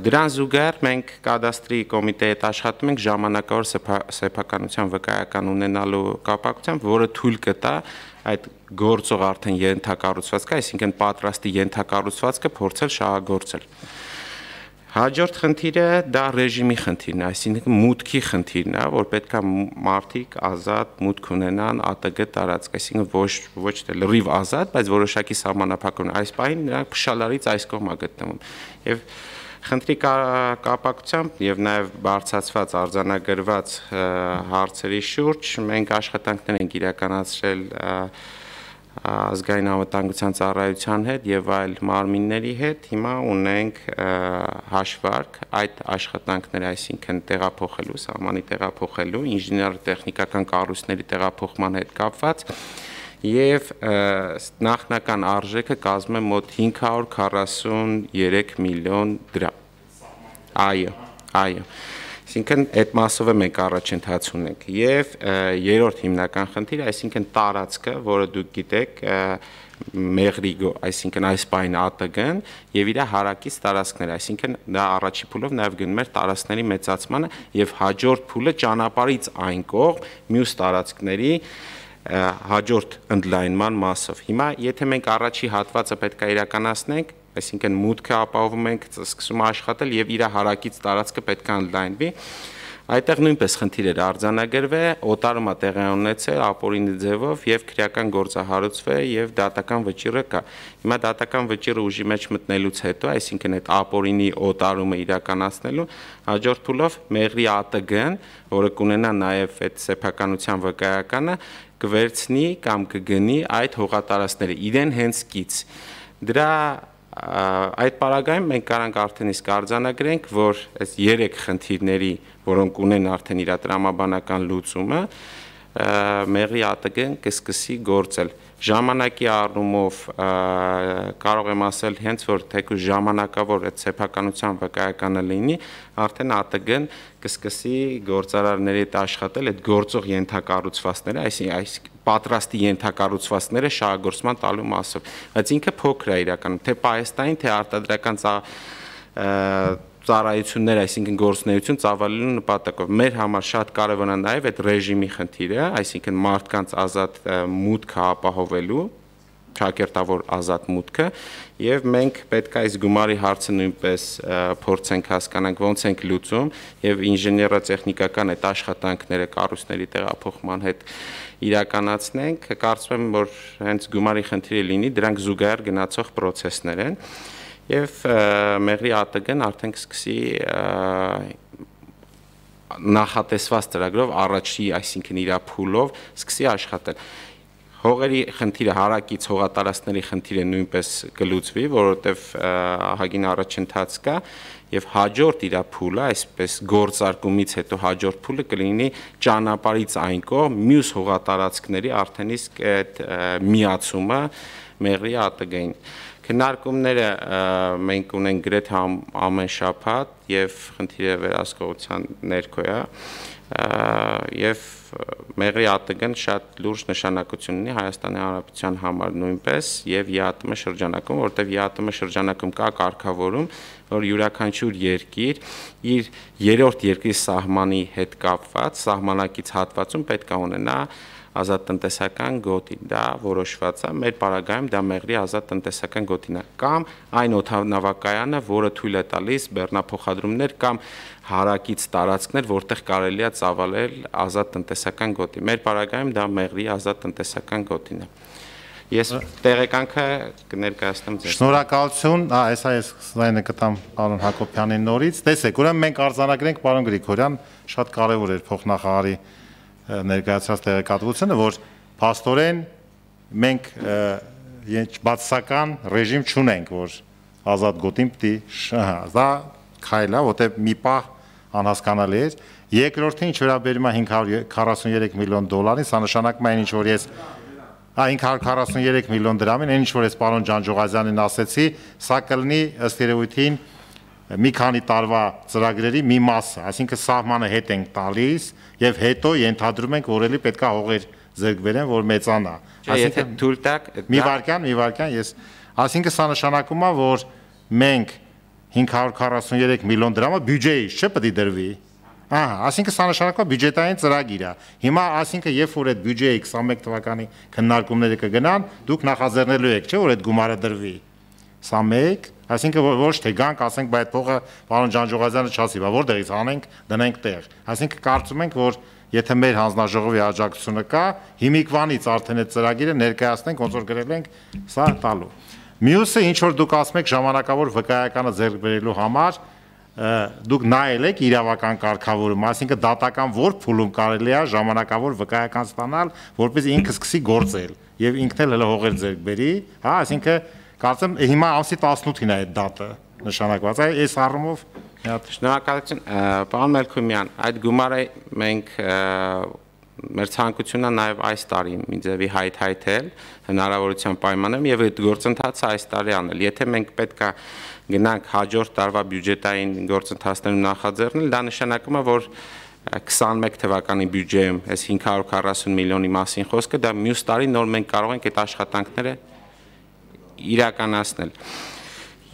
դրան զուգահեռ մենք կադաստրի կոմիտեի հետ աշխատում ենք ժամանակավոր սեփականության վկայական ունենալու կապակցությամբ, որը թույլ կտա այդ գործող արդեն ենթակառուցվածքը, այսինքն պատրաստի ենթակառուցվածքը փորձել շահագործել։ Հաջորդ խնդիրը դա ռեժիմի խնդիրն է, այսինքն մուտքի խնդիրն է, որ պետք է մարդիկ ազատ մուտք ունենան ԱՏԳ տարածք, այսինքն ոչ թե լրիվ ազատ, բայց որոշակի սահմանափակ ունեն։ Այս պահին նրանք փշալարից այս կողմը գտնվում։ Եվ խնդրի կապակցությամբ եւ նաեւ բարձրացված արձանագրված հարցերի շուրջ մենք աշխատանքներ ենք իրականացրել ազգային անվտանգության ծառայության հետ եւ այլ մարմինների հետ, հիմա ունենք հաշվարկ այդ աշխատանքները, այսինքն տեղափոխելու, սահմանի տեղափոխելու, ինժեներատեխնիկական կառույցների տեղափոխման հետ կապված եւ նախնական արժեքը կազմում է մոտ 543 միլիոն դրամ։ Այո։ Այսինքն այդ մասով մենք առաջընթաց ունենք եւ երրորդ հիմնական խնդիրը, այսինքն տարածքը, որը դուք գիտեք, Մեղրիգո, այսինքն այս պայն ԱՏԳ-ն եւ իր հարակից տարածքները, այսինքն դա առաջի փուլով նաեւ գնում էր տարածքների մեծացմանը եւ հաջորդ փուլը ճանապարհից այն կողմ մյուս տարածքների հաջորդ ընդլայնման մասով։ Հիմա եթե մենք առաջի հատվածը պետք է իրականացնենք, այսինքն մուտքը ապահովում ենք, սկսում աշխատել եւ իր հարակից տարածքը պետք է ընդլայնվի, այդտեղ նույնպես խնդիր էր արձանագրվել, օտարումը տեղի ունեցել ապօրինի ձևով եւ քրեական գործահարուցվել եւ դատական վճիռը կա։ Հիմա դատական վճիռը ուժի մեջ մտնելուց հետո, այսինքն այդ ապօրինի օտարումը իրականացնելու հաջորդ փուլով Մեղրի ԱՏԳ-ն, որը կունենա նաեւ այդ սեփականության վկայականը, կվերցնի կամ կգնի այդ հողատարածքները իրեն հենց կից։ Դրա այդ պարագայում մենք կարանք արդեն իսկ արձանագրենք, որ այս 3 խնդիրների, որոնք ունեն արդեն իր տրամաբանական լուծումը, մեղրի ԱՏԳ-ն կսկսի գործել։ Ժամանակի առումով կարող եմ ասել հենց որ թեկուզ ժամանակավոր այդ սեփականության վկայականը լինի, արդեն ԱՏԳ-ն կսկսի գործարարների հետ աշխատել այդ գործող ենթակառուցվածքները, այսինքն պատրաստի ենթակառուցվածքները շահագործման տալու մասով։ Բայց ինքը փոքր է իրականում, թե պահեստային, թե արտադրական ծառայություններ, այսինքն գործունեություն ծավալելու նպատակով։ Մեր համար շատ կարևոր է նաև այդ ռեժիմի խնդիրը, այսինքն մարդկանց ազատ մուտքը ապահովելու, ճակերտավոր ազատ մուտքը, եւ մենք պետք է այս գումարի հարցը նույնպես փորձենք հասկանանք ոնց ենք լուծում եւ ինժեներատեխնիկական այդ աշխատանքները կառույցների տեղափոխման հետ իրականացնենք։ Կարծում եմ, որ հենց գումարի խնդիրը լինի, դրանք զուգահեռ գնացող process-ներ են։ Եվ մեղրի ԱՏԳ-ն արդեն կսկսի նախատեսված ծրագրով առաջի, այսինքն իր փուլով սկսի աշխատել։ Հողերի խնդիրը, հարակից հողատարածքների խնդիրը նույնպես կլուծվի, որովհետև ահագին առաջընթաց կա եւ հաջորդ իր փուլը, այսպես գործարկումից հետո հաջորդ փուլը կլինի ճանապարհից այն կողմ մյուս հողատարածքների արդեն իսկ այդ միացումը մեղրի ԱՏԳ-ին։ Քննարկումները մենք ունենք գրեթե ամեն շաբաթ եւ խնդիրը վերահսկողության ներքո է եւ մեղրի ԱՏԳ-ն շատ լուրջ նշանակություն ունի Հայաստանի Հանրապետության համար նույնպես եւ ԵԱՏՄ շրջանակում, որտեղ ԵԱՏՄ շրջանակում կա կարգավորում, որ յուրաքանչյուր երկիր իր երրորդ երկրի սահմանի հետ կապված սահմանակից հատվածում պետք է ունենա ազատ տնտեսական գոտի, դա որոշված է, մեր պարագայում դա մեղրի ազատ տնտեսական գոտին է, կամ այն օդանավակայանը, որը թույլ է տալիս բեռնափոխադրումներ կամ հարակից տարածքներ, որտեղ կարելի է ծավալել ազատ տնտեսական գոտի։ Մեր պարագայում դա մեղրի ազատ տնտեսական գոտին է։ Ես տեղեկանքը կներկայացնեմ ձեզ։ Շնորհակալություն, այս զայնը կտամ պարոն Հակոբյանի նորից։ Տեսեք, ուրեմն մենք արձանագրենք պարոն Գրիգորյան, շատ կարևոր էր փոխնախարարի ներկայացած տեղեկատվությունը, որ փաստորեն մենք բացասական ռեժիմ չունենք, որ ազատ գոտին պիտի դա քայլ է, որտեղ մի պահ անհասկանալի էր։ Երկրորդին ինչ վերաբերում է 543 միլիոն դոլարին, սա նշանակում է ինչ որ ես 543 միլիոն դրամին, այն ինչ որ ես պարոն Ջանջուղազյանին ասեցի, սա կլինի ըստ երևույթին մի քանի տարվա ծրագրերի մի մասը, այսինքն սահմանը հետ ենք տալիս եւ հետո ենթադրում ենք, որ էլի պետքա հողեր ձեռք բերեն, որ մեծանա։ Այսինքն թույլ տակ մի վարքյան, ես, այսինքն սա նշանակում է, որ մենք 543 միլիոն դրամը բյուջեից չէ պետք է դրվի։ Այսինքն սա նշանակում է բյուջետային ծրագիր է։ Հիմա այսինքն երբ որ այդ բյուջեի 21 թվականի քննարկումները կգնան, դուք նախաձեռնելու եք, չէ՞ որ այդ գումարը դրվի։ Սա մեկ, այսինքն ոչ թե գանք, ասենք, բայց փողը պարոն Ջանջուղազյանը չասի, բա որտեղից անենք, դնենք տեղ։ Այսինքն կարծում ենք, որ եթե մեր հանձնաժողովի աջակցությունը կա, հիմիկվանից արդեն այդ ծրագիրը ներկայացնենք, ոնց որ գրել ենք, սա տալու։ Մյուսը, ինչ որ դուք ասում եք ժամանակավոր վկայականը ձեռք բերելու համար, դուք նայել եք իրավական կարգավորում, այսինքն դատական որ փուլում կարելի է ժամանակավոր վկայական ստանալ, որպես ինքը սկսի գործել եւ ինքն էլ հələ հողեր ձեռք բերի, հա, այսինքն կարծեմ հիմա ամսի 18-ին է այդ դատը նշանակված է, այս առումով Շնորհակալություն, պարոն Մելքումյան, այդ գումարը մենք մեր ցանկությունն է նաև այս տարի մի ձևի հայթայթել հնարավորության պայմաններում եւ այդ գործընթացը այս տարի անել։ Եթե մենք պետքա գնանք հաջորդ տարվա բյուջետային գործընթացներում նախաձեռնել, դա նշանակում է, որ 21 թվականի բյուջեում այս 540 միլիոնի մասին խոսքը, դա մյուս տարի նոր մենք կարող ենք այդ աշխատանքները իրականացնել։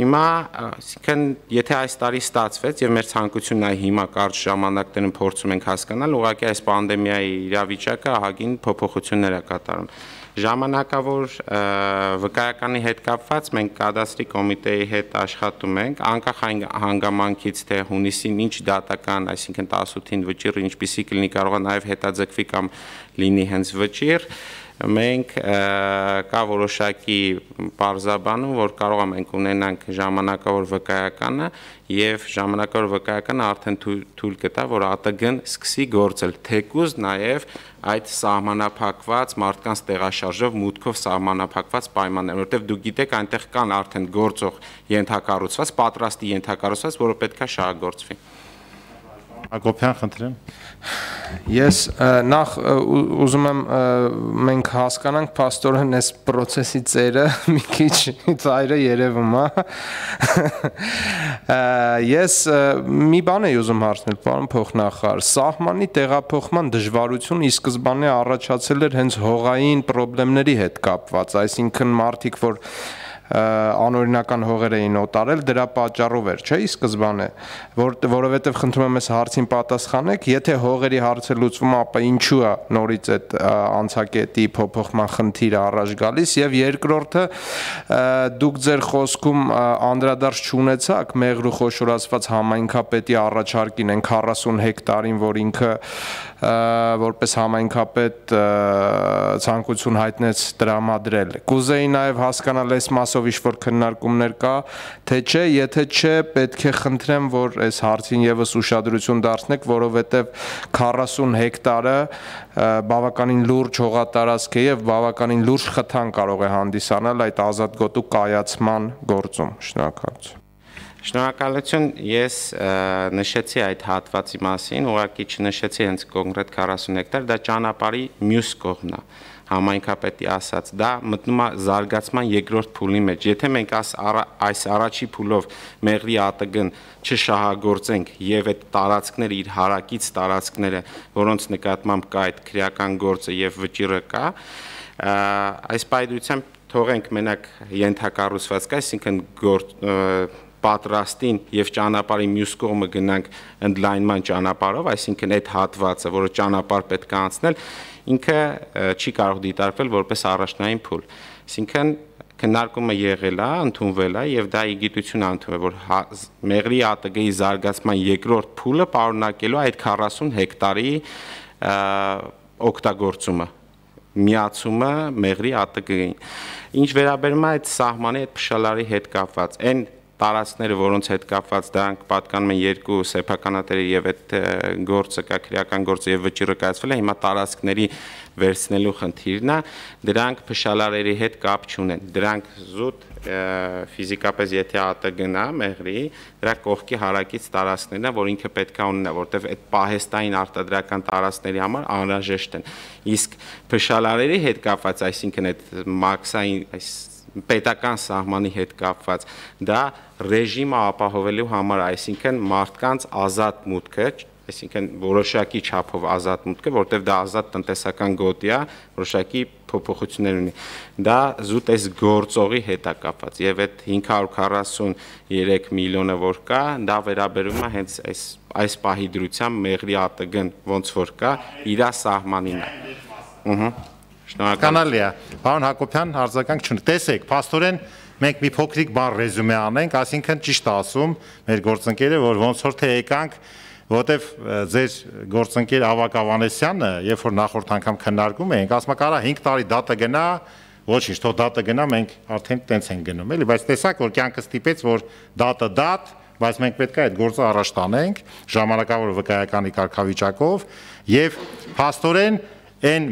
Հիմա, այսինքն, եթե այս տարի ստացվեց եւ մեր ցանկությունն է հիմա կարճ ժամանակներում փորձում ենք հասկանալ, ուղղակի այս պանդեմիայի իրավիճակը ահագին փոփոխություններ է կատարում։ Ժամանակավոր վկայականի հետ կապված մենք կադաստրի կոմիտեի հետ աշխատում ենք, անկախ հանգամանքից թե հունիսին ինչ դատական, այսինքն 18-ին վճիռը ինչպիսի կլինի, կարող է նաև հետաձգվի կամ լինի հենց վճիռ, մենք կա որոշակի բարձաբանում, որ կարող ենք ունենանք ժամանակավոր վկայականը եւ ժամանակավոր վկայականը արդեն թույլ կտա, որ ԱՏԳ-ն սկսի գործել, թեկուզ նաեւ այդ սահմանափակված մարդկանց տեղաշարժով մուտքով սահմանափակված պայմաններ, որտեղ դուք գիտեք այնտեղ կան արդեն գործող ենթակառուցված, պատրաստի ենթակառուցված, որը պետքա շահագործվի։ Հակոբյան, խնդրեմ։ Ես նախ ուզում եմ մենք հասկանանք փաստորեն այս process-ի ծերը մի քիչ ծայրը երևում է։ Ես մի բան եմ ուզում հարցնել, պարոն փոխնախարար, սահմանի տեղափոխման դժվարություն ի սկզբանե առաջացել էր հենց հողային խնդիրների հետ կապված, այսինքն մարդիկ, որ անօրինական հողեր էին օտարել, դրա պատճառով էր, չէ՞, ի սկզբանե, որովհետև խնդրում եմ այս հարցին պատասխանեք, եթե հողերի հարցը լուծվում, ապա ինչու է նորից այդ անցակետի փոփոխման խնդիրը առաջ գալիս, եւ երկրորդը դուք ձեր խոսքում անդրադարձ չունեցաք մեղրու խոշորացված համայնքապետի առաջարկին այն 40 հեկտարին, որ ինքը որպես համայնքապետ ցանկություն հայտնեց տրամադրել։ Կուզեի նաև հասկանալ այս մասով ինչ-որ քննարկումներ կա, թե չէ, եթե չէ, պետք է խնդրեմ, որ այս հարցին եւս ուշադրություն դարձնեք, որովհետև 40 հեկտարը բավականին լուրջ հողատարածք է եւ բավականին լուրջ խթան կարող է հանդիսանալ այդ ազատ գոտու կայացման գործում։ Շնորհակալություն։ Շնորհակալություն, ես նշեցի այդ հատվածի մասին, ուղղակի չնշեցի հենց կոնկրետ 40 հեկտար, դա ճանապարհի մյուս կողմն է, համայնքապետի ասած, դա մտնում է զարգացման երկրորդ փուլի մեջ, եթե մենք այս առաջի փուլով մեղրի ԱՏԳ-ն չշահագործենք եւ այդ տարածքները իր հարակից տարածքները, որոնց նկատմամբ կա այդ քրեական գործը եւ վճիռը կա, այս պայմանությամբ թողենք մենակ ենթակառուցվածք, այսինքն պատրաստին եւ ճանապարհի մյուս կողմը գնանք ընդլայնման ճանապարհով, այսինքն այդ հատվածը, որը ճանապարհ պետք է անցնել, ինքը չի կարող դիտարկվել որպես առաջնային փուլ։ Այսինքն քննարկումը եղել է, ընդունվել է եւ դա իգիտություն է ընդունվել, որ մեղրի ԱՏԳ-ի զարգացման երկրորդ փուլը պարունակելու այդ 40 հեկտարի օգտագործումը, միացումը մեղրի ԱՏԳ-ին։ Ինչ վերաբերում է այդ սահմանի այդ փշալարի հետ կապված, այն տարածքները, որոնց հետ կապված դրանք պատկանում են երկու սեփականատերի եւ այդ գործը կա քրեական գործը եւ վճիռը կայացվել է, հիմա տարածքների վերցնելու խնդիրն է, դրանք փշալարերի հետ կապ չունեն, դրանք զուտ ֆիզիկապես եթե ԱՏԳ-ն է մեղրի, դրա կողքի հարակից տարածքներն է, որ ինքը պետք է ունենա, որտեղ այդ պահեստային արտադրական տարածքների համար անհրաժեշտ են, իսկ փշալարերի հետ կապված, այսինքն այդ մաքսային այս պետական սահմանի հետ կապված, դա ռեժիմը ապահովելու համար, այսինքն մարդկանց ազատ մուտքը, այսինքն որոշակի չափով ազատ մուտքը, որտեղ դա ազատ տնտեսական գոտի է, որոշակի փոփոխություններ ունի։ Դա զուտ այս գործողի հետ է կապված եւ այդ 543 միլիոնը որ կա, դա վերաբերում է հենց այս պահի դրությամբ մեղրի ԱՏԳ-ն ոնց որ կա, իր սահմանին է։ Կանալի է, պարոն Հակոբյան, արձագանք չունի։ Տեսեք, փաստորեն մենք մի փոքրիկ բան ռեզումե անենք, այսինքն ճիշտ ասում մեր գործընկերը, որ ոնց որ թե եկանք, որտեվ ձեր գործընկեր Ավագ Ավանեսյանը, երբ որ նախորդ անգամ քննարկում էինք, ասում կարա 5 տարի դատը գնա, ոչինչ, թող դատը գնա, մենք արդեն տենց ենք գնում, էլի, բայց տեսակ որ կյանքը ստիպեց, որ դատը դատ, բայց մենք պետք է այդ գործը առաջ տանենք ժամանակավոր վկայականի կարգավիճակով եւ փաստորեն Այն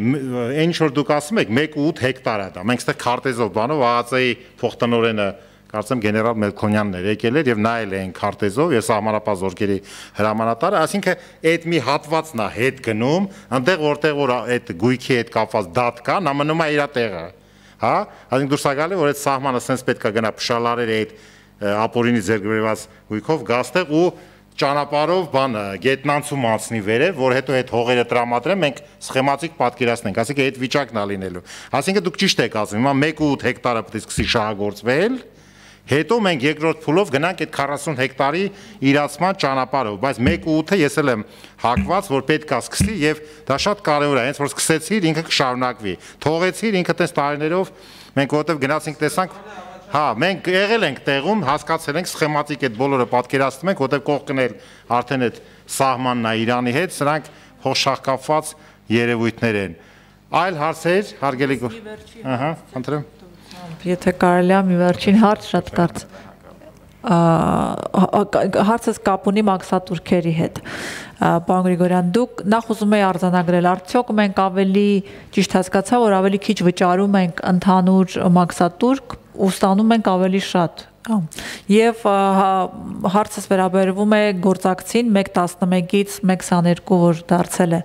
ինչ որ դուք ասում եք 1.8 հեկտար է դա։ Մենք այստեղ քարտեզով բանով ԱԱԾ-ի փոխտնօրենը կարծեմ գեներալ Մելքոնյանն էր եկել էր եւ նայել էին քարտեզով եւ սահմանապահ զորքերի հրամանատարը, ասինքն այդ մի հատվածն է հետ գնում, այնտեղ որտեղ որ այդ գույքի հետ կապված դատ կա, նա մնում է իր տեղը, հա? Այսինքն դուրս է գալի որ այդ սահմանը sense պետք է գնա փշալարերի այդ ապօրինի ձեռքբերված գույքով գաստեղ ու ճանապարհով բանը գետնանցում անցնի վերև, որ հետո այդ հողերը տրամադրեն, մենք սխեմատիկ պատկերացնենք, ասենք այդ վիճակն է լինելու։ Ասենք դուք ճիշտ եք ասում, հիմա 1.8 հեկտարը պետք է սկսի շահագործվել, հետո մենք երկրորդ փուլով գնանք այդ 40 հեկտարի իրացման ճանապարհով, բայց 1.8-ը ես էլ եմ հակված, որ պետք է սկսի եւ դա շատ կարեւոր է, հենց որ սկսեցիր ինքը կշարունակվի։ Թողեցիր ինքը տես տարիներով մենք որտեվ գնացինք տեսանք Հա, մենք եղել ենք տեղում, հասկացել ենք սխեմատիկ այդ բոլորը պատկերացնում ենք, որտեղ կողքն էլ արդեն այդ սահմանն է Իրանի հետ, սրանք հոշախկապված երևույթներ են։ Այլ հարցեր, հարգելի Ահա, խնդրեմ։ Եթե կարելի է մի վերջին հարց շատ կարծ։ Հարցս կապ ունի մաքսատուրքերի հետ։ Պարոն Գրիգորյան, դուք նախ ուզում եք արձանագրել, արդյոք մենք ավելի ճիշտ հասկացա, որ ավելի քիչ վճարում ենք ընդհանուր մաքսատուրք ու ստանում ենք ավելի շատ։ Եվ հարցս վերաբերվում է գործակցին 1.11-ից 1.22, որ դարձել է։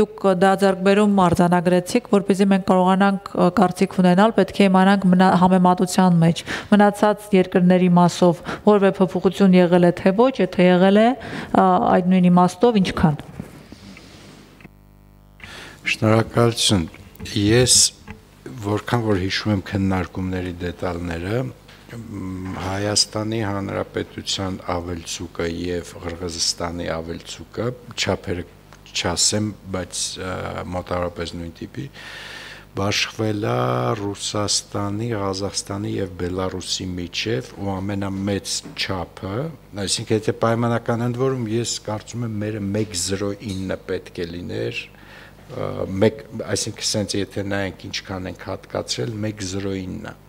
Դուք դա ձեռքբերում արձանագրեցիք, որպեսզի մենք կարողանանք կարծիք ունենալ, պետք է իմանանք համեմատության մեջ մնացած երկրների մասով որևէ փոփոխություն եղել է թե ոչ, եթե եղել է, այդ նույն իմաստով ինչքան։ Շնորհակալություն։ Ես որքան որ հիշում եմ քննարկումների դետալները, Հայաստանի Հանրապետության ավելցուկը եւ Ղրղզստանի ավելցուկը չափերը չասեմ, բայց մոտավորապես նույն տիպի բաշխվել է Ռուսաստանի, Ղազախստանի եւ Բելարուսի միջև ու ամենամեծ չափը, այսինքն եթե պայմանական ընդ որում ես կարծում եմ մերը 1.09 պետք է լիներ, այսինքն sense եթե նայենք ինչքան ենք հատկացրել 1.09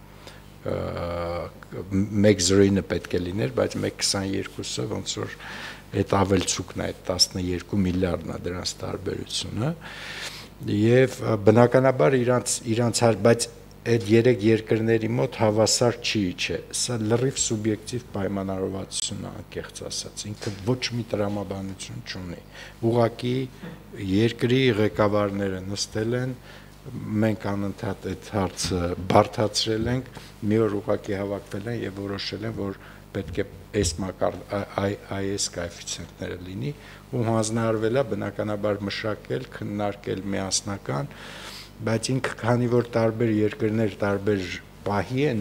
1.09 պետք է լիներ, բայց 1.22-ը ոնց որ այդ ավելցուկն է, այդ 12 միլիարդն է դրանց տարբերությունը եւ բնականաբար իրանց բայց այդ երեք երկրների մոտ հավասար չէ, սա լրիվ սուբյեկտիվ պայմանավորվածություն է, անկեղծ ասած, ինքը ոչ մի տրամաբանություն չունի, ուղղակի երկրի ղեկավարները նստել են մենք անընդհատ այդ հարցը բարդացրել ենք, մի օր ուղղակի հավաքվել են եւ որոշել են, որ պետք է այս կոեֆիցիենտները լինի ու հանձնարարվել է բնականաբար մշակել, քննարկել միասնական, բայց ինքը քանի որ տարբեր երկրներ տարբեր պահի են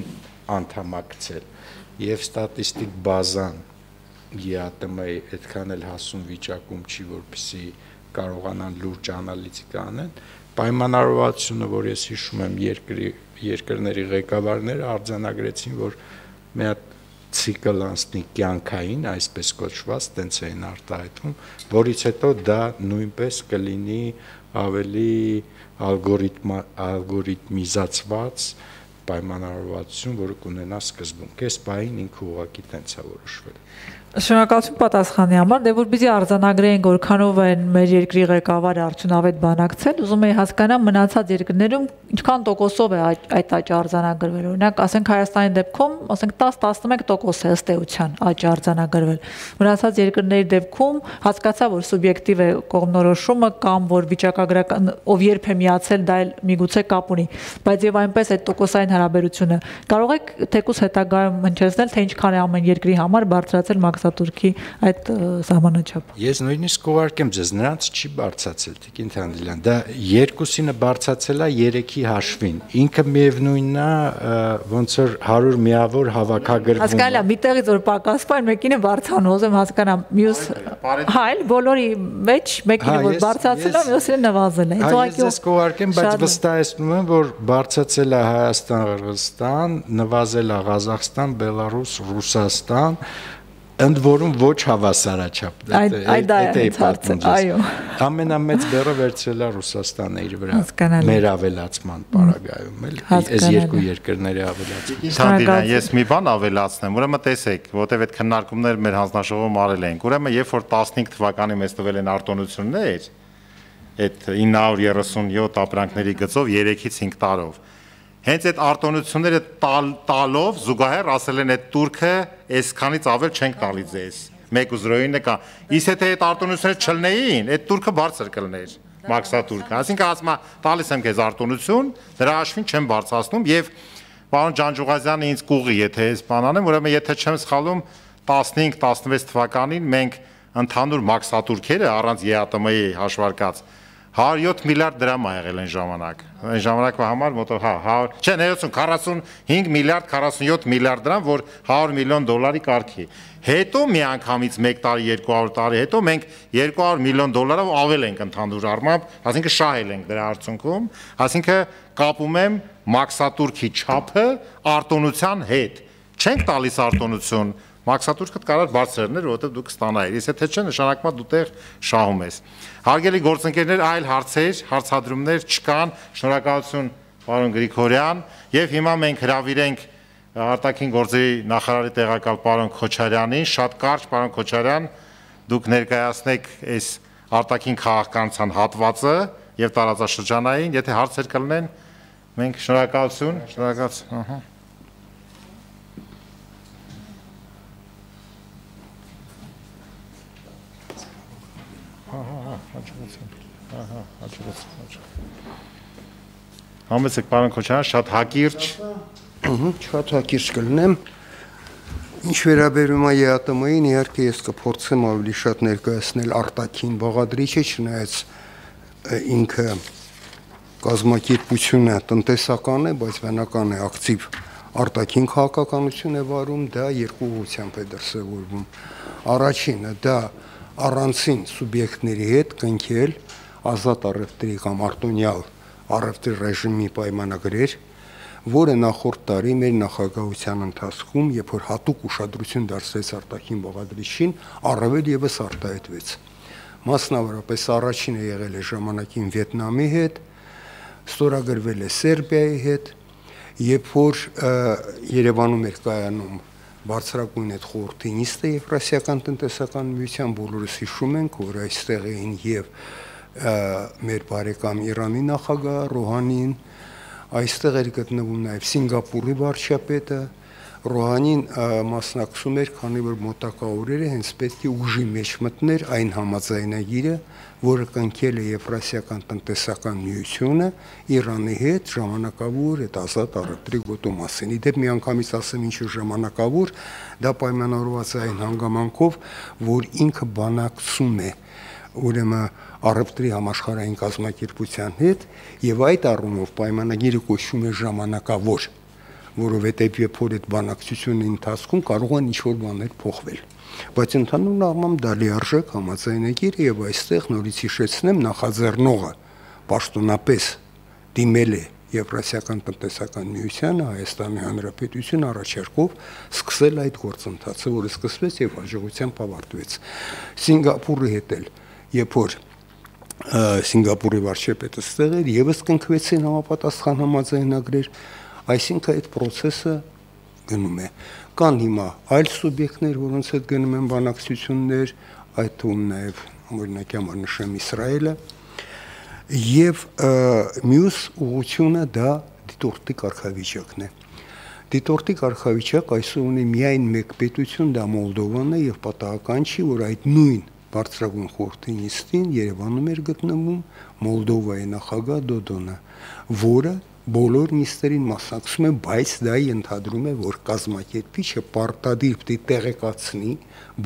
անդամակցել եւ ստատիստիկ բազան ԵԱՏՄ-ի այդքան էլ հասուն վիճակում չի, որպեսզի կարողանան լուրջ անալիզիկա անեն, պայմանավորվածությունը, որ ես հիշում եմ երկրների ղեկավարները արձանագրեցին, որ մի հատ ցիկլ անցնի կյանքային, այսպես կոչված, տենց էին արտահայտվում, որից հետո դա նույնպես կլինի ավելի ալգորիթմիզացված պայմանավորվածություն, որը կունենա սկզբունք։ Այս պահին ինքը ուղղակի տենց է որոշվել։ Շնորհակալություն պատասխանի համար, դե որպեսզի արձանագրենք որքանով են մեր երկրի ղեկավարը արդյունավետ բանակցել, ուզում եի հասկանալ մնացած երկրներում ինչքան տոկոսով է այդ աճը արձանագրվել։ Օրինակ, ասենք Հայաստանի դեպքում, ասենք 10-11% է ըստ էության աճը արձանագրվել։ Մնացած երկրների դեպքում հասկացա, որ սուբյեկտիվ է կողմնորոշումը կամ որ վիճակագրական ով երբ է միացել, դա էլ միգուցե կապ ունի, բայց եւ այնպես այդ տոկոսային հարաբերությունը կարող եք թեկուզ հետագայում հնչեցնել, թե ինչքան է ամեն երկրի համար բարձրացել մաքսատուրքի այդ սահմանաչափը։ Ես նույնիսկ կուղարկեմ ձեզ, նրանց չի բարձրացել, Տիկին Թանդիլյան, դա երկուսինը բարձրացել է 3-ի հաշվին։ Ինքը միևնույնն է, ոնց որ 100 միավոր հավաքագրվում։ Հասկանալի է, մի տեղից որ պակասվում է, մեկինը բարձրանում, ուզում հասկանամ, մյուս այլ բոլորի մեջ մեկինը որ բարձրացել է, մյուսինը նվազել է։ Ես ձեզ կուղարկեմ, բայց վստահեցնում եմ, որ բարձրացել է Հայաստան, Ղրղզստան, նվազել է Ղազախստան, Բելարուս, Ռուսաստան, ընդ որում ոչ հավասարաչափ, դա է պատմում ձեզ։ Ամենամեծ բեռը վերցրել է Ռուսաստանը իր վրա, մեր ավելացման պարագայում, էլի, այս երկու երկրների ավելացման։ Թանդիլյան, ես մի բան ավելացնեմ, ուրեմն տեսեք, որտեվ այդ քննարկումները մեր հանձնաժողովում արել ենք, ուրեմն երբ որ 15 թվականին մեզ տվել են արտոնություններ, այդ 937 ապրանքների գծով 3-ից 5 տարով, հենց այդ արտոնությունները տալով զուգահեռ ասել են այդ турքը այսքանից ավել չենք տալի ձեզ 1.09 կա իսկ եթե այդ արտոնությունները չլնեին այդ турքը բարձր կլներ մաքսատուրքը այսինքն ասում տալիս եմ քեզ արտոնություն դրա հաշվին չեմ բարձրացնում եւ պարոն Ջանջուղազյանը ինձ կուղի եթե այս բան անեմ ուրեմն եթե չեմ սխալվում 15-16 թվականին մենք ընդհանուր մաքսատուրքերը առանց ԵԱՏՄ-ի հաշվարկած 107 միլիարդ դրամ ա եղել այն ժամանակ։ Այն ժամանակվա համար մոտով չէ 45 միլիարդ 47 միլիարդ դրամ, որ 100 միլիոն դոլարի կարգի։ Հետո միանգամից 1 տարի, 200 տարի հետո մենք 200 միլիոն դոլարով ավել ենք ընդհանուր առմամբ, այսինքն շահել ենք դրա արդյունքում, այսինքն կապում եմ մաքսատուրքի չափը արտոնության հետ։ Չենք տալիս արտոնություն մաքսատուրքդ կարար բարձրներ, որովհետև դու կստանայիր։ Իսկ եթե չէ, նշանակում է դու տեղ շահում ես։ Հարգելի գործընկերներ, այլ հարցեր, հարցադրումներ չկան։ Շնորհակալություն պարոն Գրիգորյան, եւ հիմա մենք հրավիրենք արտաքին գործերի նախարարի տեղակալ պարոն Քոչարյանին, շատ կարճ պարոն Քոչարյան, դուք ներկայացնեք այս արտաքին քաղաքականության հատվածը եւ տարածաշրջանային, եթե հարցեր կլինեն, մենք շնորհակալություն, շնորհակալություն, Համեցեք պարոն Քոչարյան, շատ հակիրճ։ Շատ հակիրճ կլինեմ։ Ինչ վերաբերում է ԵԱՏՄ-ին, իհարկե ես կփորձեմ ավելի շատ ներկայացնել արտաքին բաղադրիչը, չնայած ինքը կազմակերպությունը տնտեսական է, բայց բնական է ակտիվ արտաքին քաղաքականություն է վարում, դա երկու ուղղությամբ է դրսևորվում։ Առաջինը դա առանցին սուբյեկտների հետ կնքել ազատ առևտրի կամ արտոնյալ առևտրի ռեժիմի պայմանագրեր, որը նախորդ տարի մեր նախագահության ընթացքում, երբ որ հատուկ ուշադրություն դարձրեց արտաքին բաղադրիչին, առավել եւս արտահայտվեց։ Մասնավորապես առաջինը եղել է ժամանակին Վիետնամի հետ, ստորագրվել է Սերբիայի հետ, երբ որ Երևանում էր կայանում բարձրագույն այդ խորհրդի նիստը Եվրասիական տնտեսական միության, բոլորս հիշում ենք, որ այստեղ էին եւ մեր բարեկամ Իրանի նախագահ Ռոհանին, այստեղ էր գտնվում նաև Սինգապուրի վարչապետը, Ռոհանին մասնակցում էր, քանի որ մոտակա օրերը հենց պետք է ուժի մեջ մտներ այն համաձայնագիրը, որը կնքել է Եվրասիական տնտեսական միությունը Իրանի հետ ժամանակավոր այդ ազատ առևտրի գոտու մասին։ Իդեպ միանգամից ասեմ ինչու ժամանակավոր, դա պայմանավորված է այն հանգամանքով, որ ինքը բանակցում է ուրեմն առևտրի համաշխարհային կազմակերպության հետ եւ այդ առումով պայմանագիրը կոչվում է ժամանակավոր, որովհետեւ երբ որ այդ բանակցությունների ընթացքում կարող են ինչ-որ բաներ փոխվել։ Բայց ընդհանուր առմամբ դա լիարժեք համաձայնագիր է եւ այստեղ նորից հիշեցնեմ նախաձեռնողը պաշտոնապես դիմել է Եվրասիական տնտեսական միությանը Հայաստանի Հանրապետություն առաջարկով սկսել այդ գործընթացը, որը սկսվեց եւ հաջողությամբ ավարտվեց։ Սինգապուրի հետ էլ երբ որ Սինգապուրի վարչապետը ստեղ էր, եւս կնքվեցին համապատասխան համաձայնագրեր, այսինքն այդ process-ը գնում է։ Կան հիմա այլ սուբյեկտներ, որոնց հետ գնում են բանակցություններ, այդ թվում նաեւ օրինակ համար նշեմ Իսրայելը, եւ մյուս ուղղությունը դա դիտորդի կարգավիճակն է։ Դիտորդի կարգավիճակ այսօր ունի միայն մեկ պետություն, դա Մոլդովան է, եւ պատահական չի, որ այդ նույն բարձրագույն խորհրդի նիստին Երևանում էր գտնվում Մոլդովայի նախագահ Դոդոնը, որը բոլոր նիստերին մասնակցում է, բայց դա ենթադրում է, որ կազմակերպիչը պարտադիր պետք է տեղեկացնի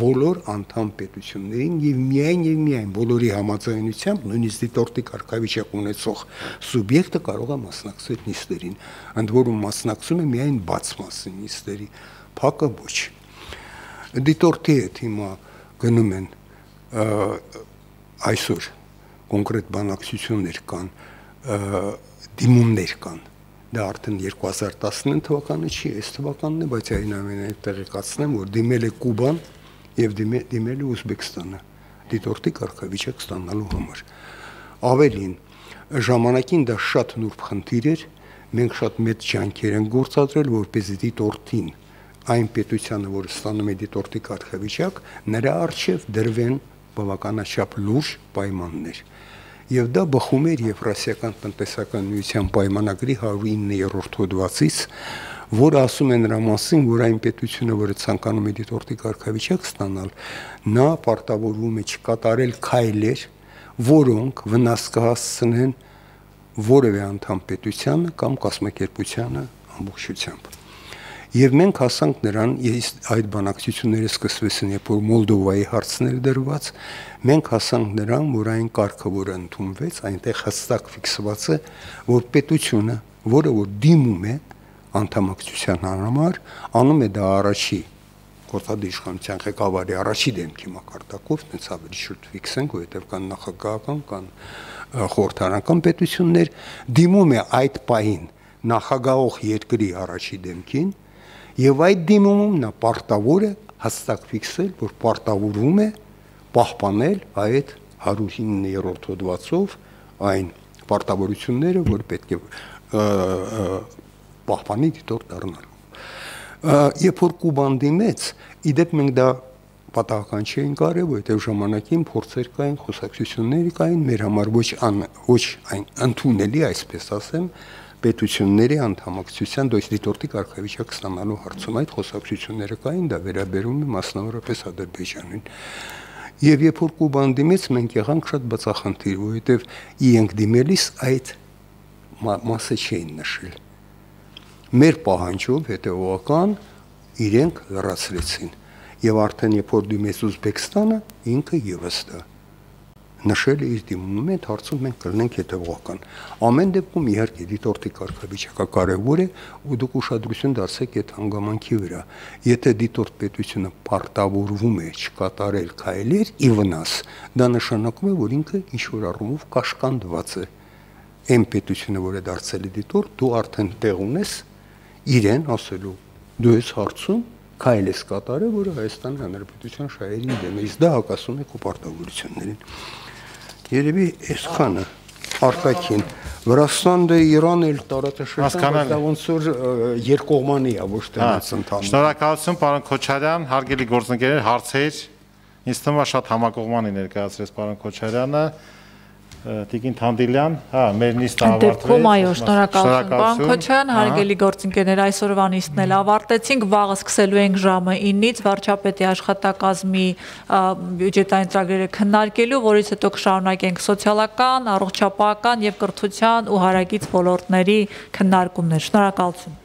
բոլոր անդամ պետություններին եւ միայն բոլորի համաձայնությամբ նույնիսկ դիտորդի կարգավիճակ ունեցող սուբյեկտը կարող է մասնակցել նիստերին, ընդ որում մասնակցում է միայն բաց մասին նիստերի, փակը ոչ։ Դիտորդի հետ հիմա գնում են այսօր կոնկրետ բանակցություններ կան, դիմումներ կան, դա արդեն 2019 թվականը չի, այս թվականն է, բայց այնուամենայնիվ տեղեկացնեմ, որ դիմել է Կուբան եւ դիմել է Ուզբեկստանը, դիտորդի կարգավիճակ ստանալու համար։ Ավելին, ժամանակին դա շատ նուրբ խնդիր էր, մենք շատ մեծ ջանքեր ենք գործադրել, որպեսզի դիտորդին այն պետությանը, որը ստանում է դիտորդի կարգավիճակ, նրա առջև դրվեն բավականաչափ լուրջ պայմաններ։ Եվ դա բխում էր Եվրասիական տնտեսական միության պայմանագրի 109-րդ հոդվածից, որը ասում է նրա մասին, որ այն պետությունը, որը ցանկանում է դիտորդի կարգավիճակ ստանալ, նա պարտավորվում է չկատարել քայլեր, որոնք վնաս կհասցնեն որևէ անդամ պետությանը կամ կազմակերպությանը ամբողջությամբ։ Եվ մենք հասանք նրան, այդ բանակցությունները սկսվեցին, երբ որ Մոլդովայի հարցներ դրված, մենք հասանք նրան, որ այն կարգը, որը ընդունվեց, այնտեղ հստակ ֆիքսված է, որ պետությունը, որը որ դիմում է անդամակցության համար, անում է դա առաջի գործադիր իշխանության ղեկավարի առաջի դեմքի մակարդակով, այնց ավելի շուտ ֆիքսենք, որովհետև կան նախագահական, կան խորհրդարանական պետություններ, դիմում է այդ պահին նախագահող երկրի առաջի դեմքին, եւ այդ դիմումում նա պարտավոր է հստակ ֆիքսել, որ պարտավորում է պահպանել այդ 109-րդ հոդվածով այն պարտավորությունները, որ պետք է պահպանի դիտորդ դառնալու։ Երբ որ Կուբան դիմեց, իդեպ մենք դա պատահական չէին կարել, որովհետև ժամանակին փորձեր կային, խոսակցություններ կային, մեր համար ոչ այն ընդունելի, այսպես ասեմ, պետությունների անդամակցության դիտորդի կարգավիճակ ստանալու հարցում այդ խոսակցությունները կային, դա վերաբերում է մասնավորապես Ադրբեջանին։ Եվ երբ որ Կուբան դիմեց, մենք եղանք շատ բացախնդիր, որովհետև իրենք դիմելիս այդ մասը չէին նշել։ Մեր պահանջով հետևողական իրենք լրացրեցին։ Եվ արդեն երբ որ դիմեց Ուզբեկստանը, ինքը ևս դա նշել է իր դիմումում, այդ հարցում մենք կլինենք հետևողական։ Ամեն դեպքում իհարկե դիտորդի կարգավիճակը կարևոր է, ու դուք ուշադրություն դարձեք այդ հանգամանքի վրա։ Եթե դիտորդ պետությունը պարտավորվում է չկատարել քայլեր ի վնաս, դա նշանակում է, որ ինքը ինչ-որ առումով կաշկանդված է։ Այն պետությունը, որը դարձել է դիտորդ, դու արդեն տեղ ունես իրեն ասելու, դու ես հարցում քայլ ես կատարել, որը Հայաստանի Հանրապետության շահերին դեմ է, իսկ դա հակասում է քո պարտավորություններին։ Երևի այսքանը արտաքին Վրաստանը դե Իրանը էլ տարածաշրջան, դա ոնց որ երկկողմանի է, ոչ թե ընդհանուր։ Շնորհակալություն, պարոն Քոչարյան, հարգելի գործընկերներ, հարցեր։ Ինձ թվում է շատ համակողմանի ներկայացրեց պարոն Քոչարյանը։ Տիկին Թանդիլյան, մեր նիստը ավարտվեց։ Այո, շնորհակալություն։ Պարոն Քոչարյան, հարգելի գործընկերներ, այսօրվա նիստն էլ ավարտեցինք, վաղը սկսելու ենք ժամը 9-ից վարչապետի աշխատակազմի բյուջետային ծրագրերը քննարկելու, որից հետո կշարունակենք սոցիալական, առողջապահական եւ կրթության ու հարակից ոլորտների քննարկումներ։ Շնորհակալություն։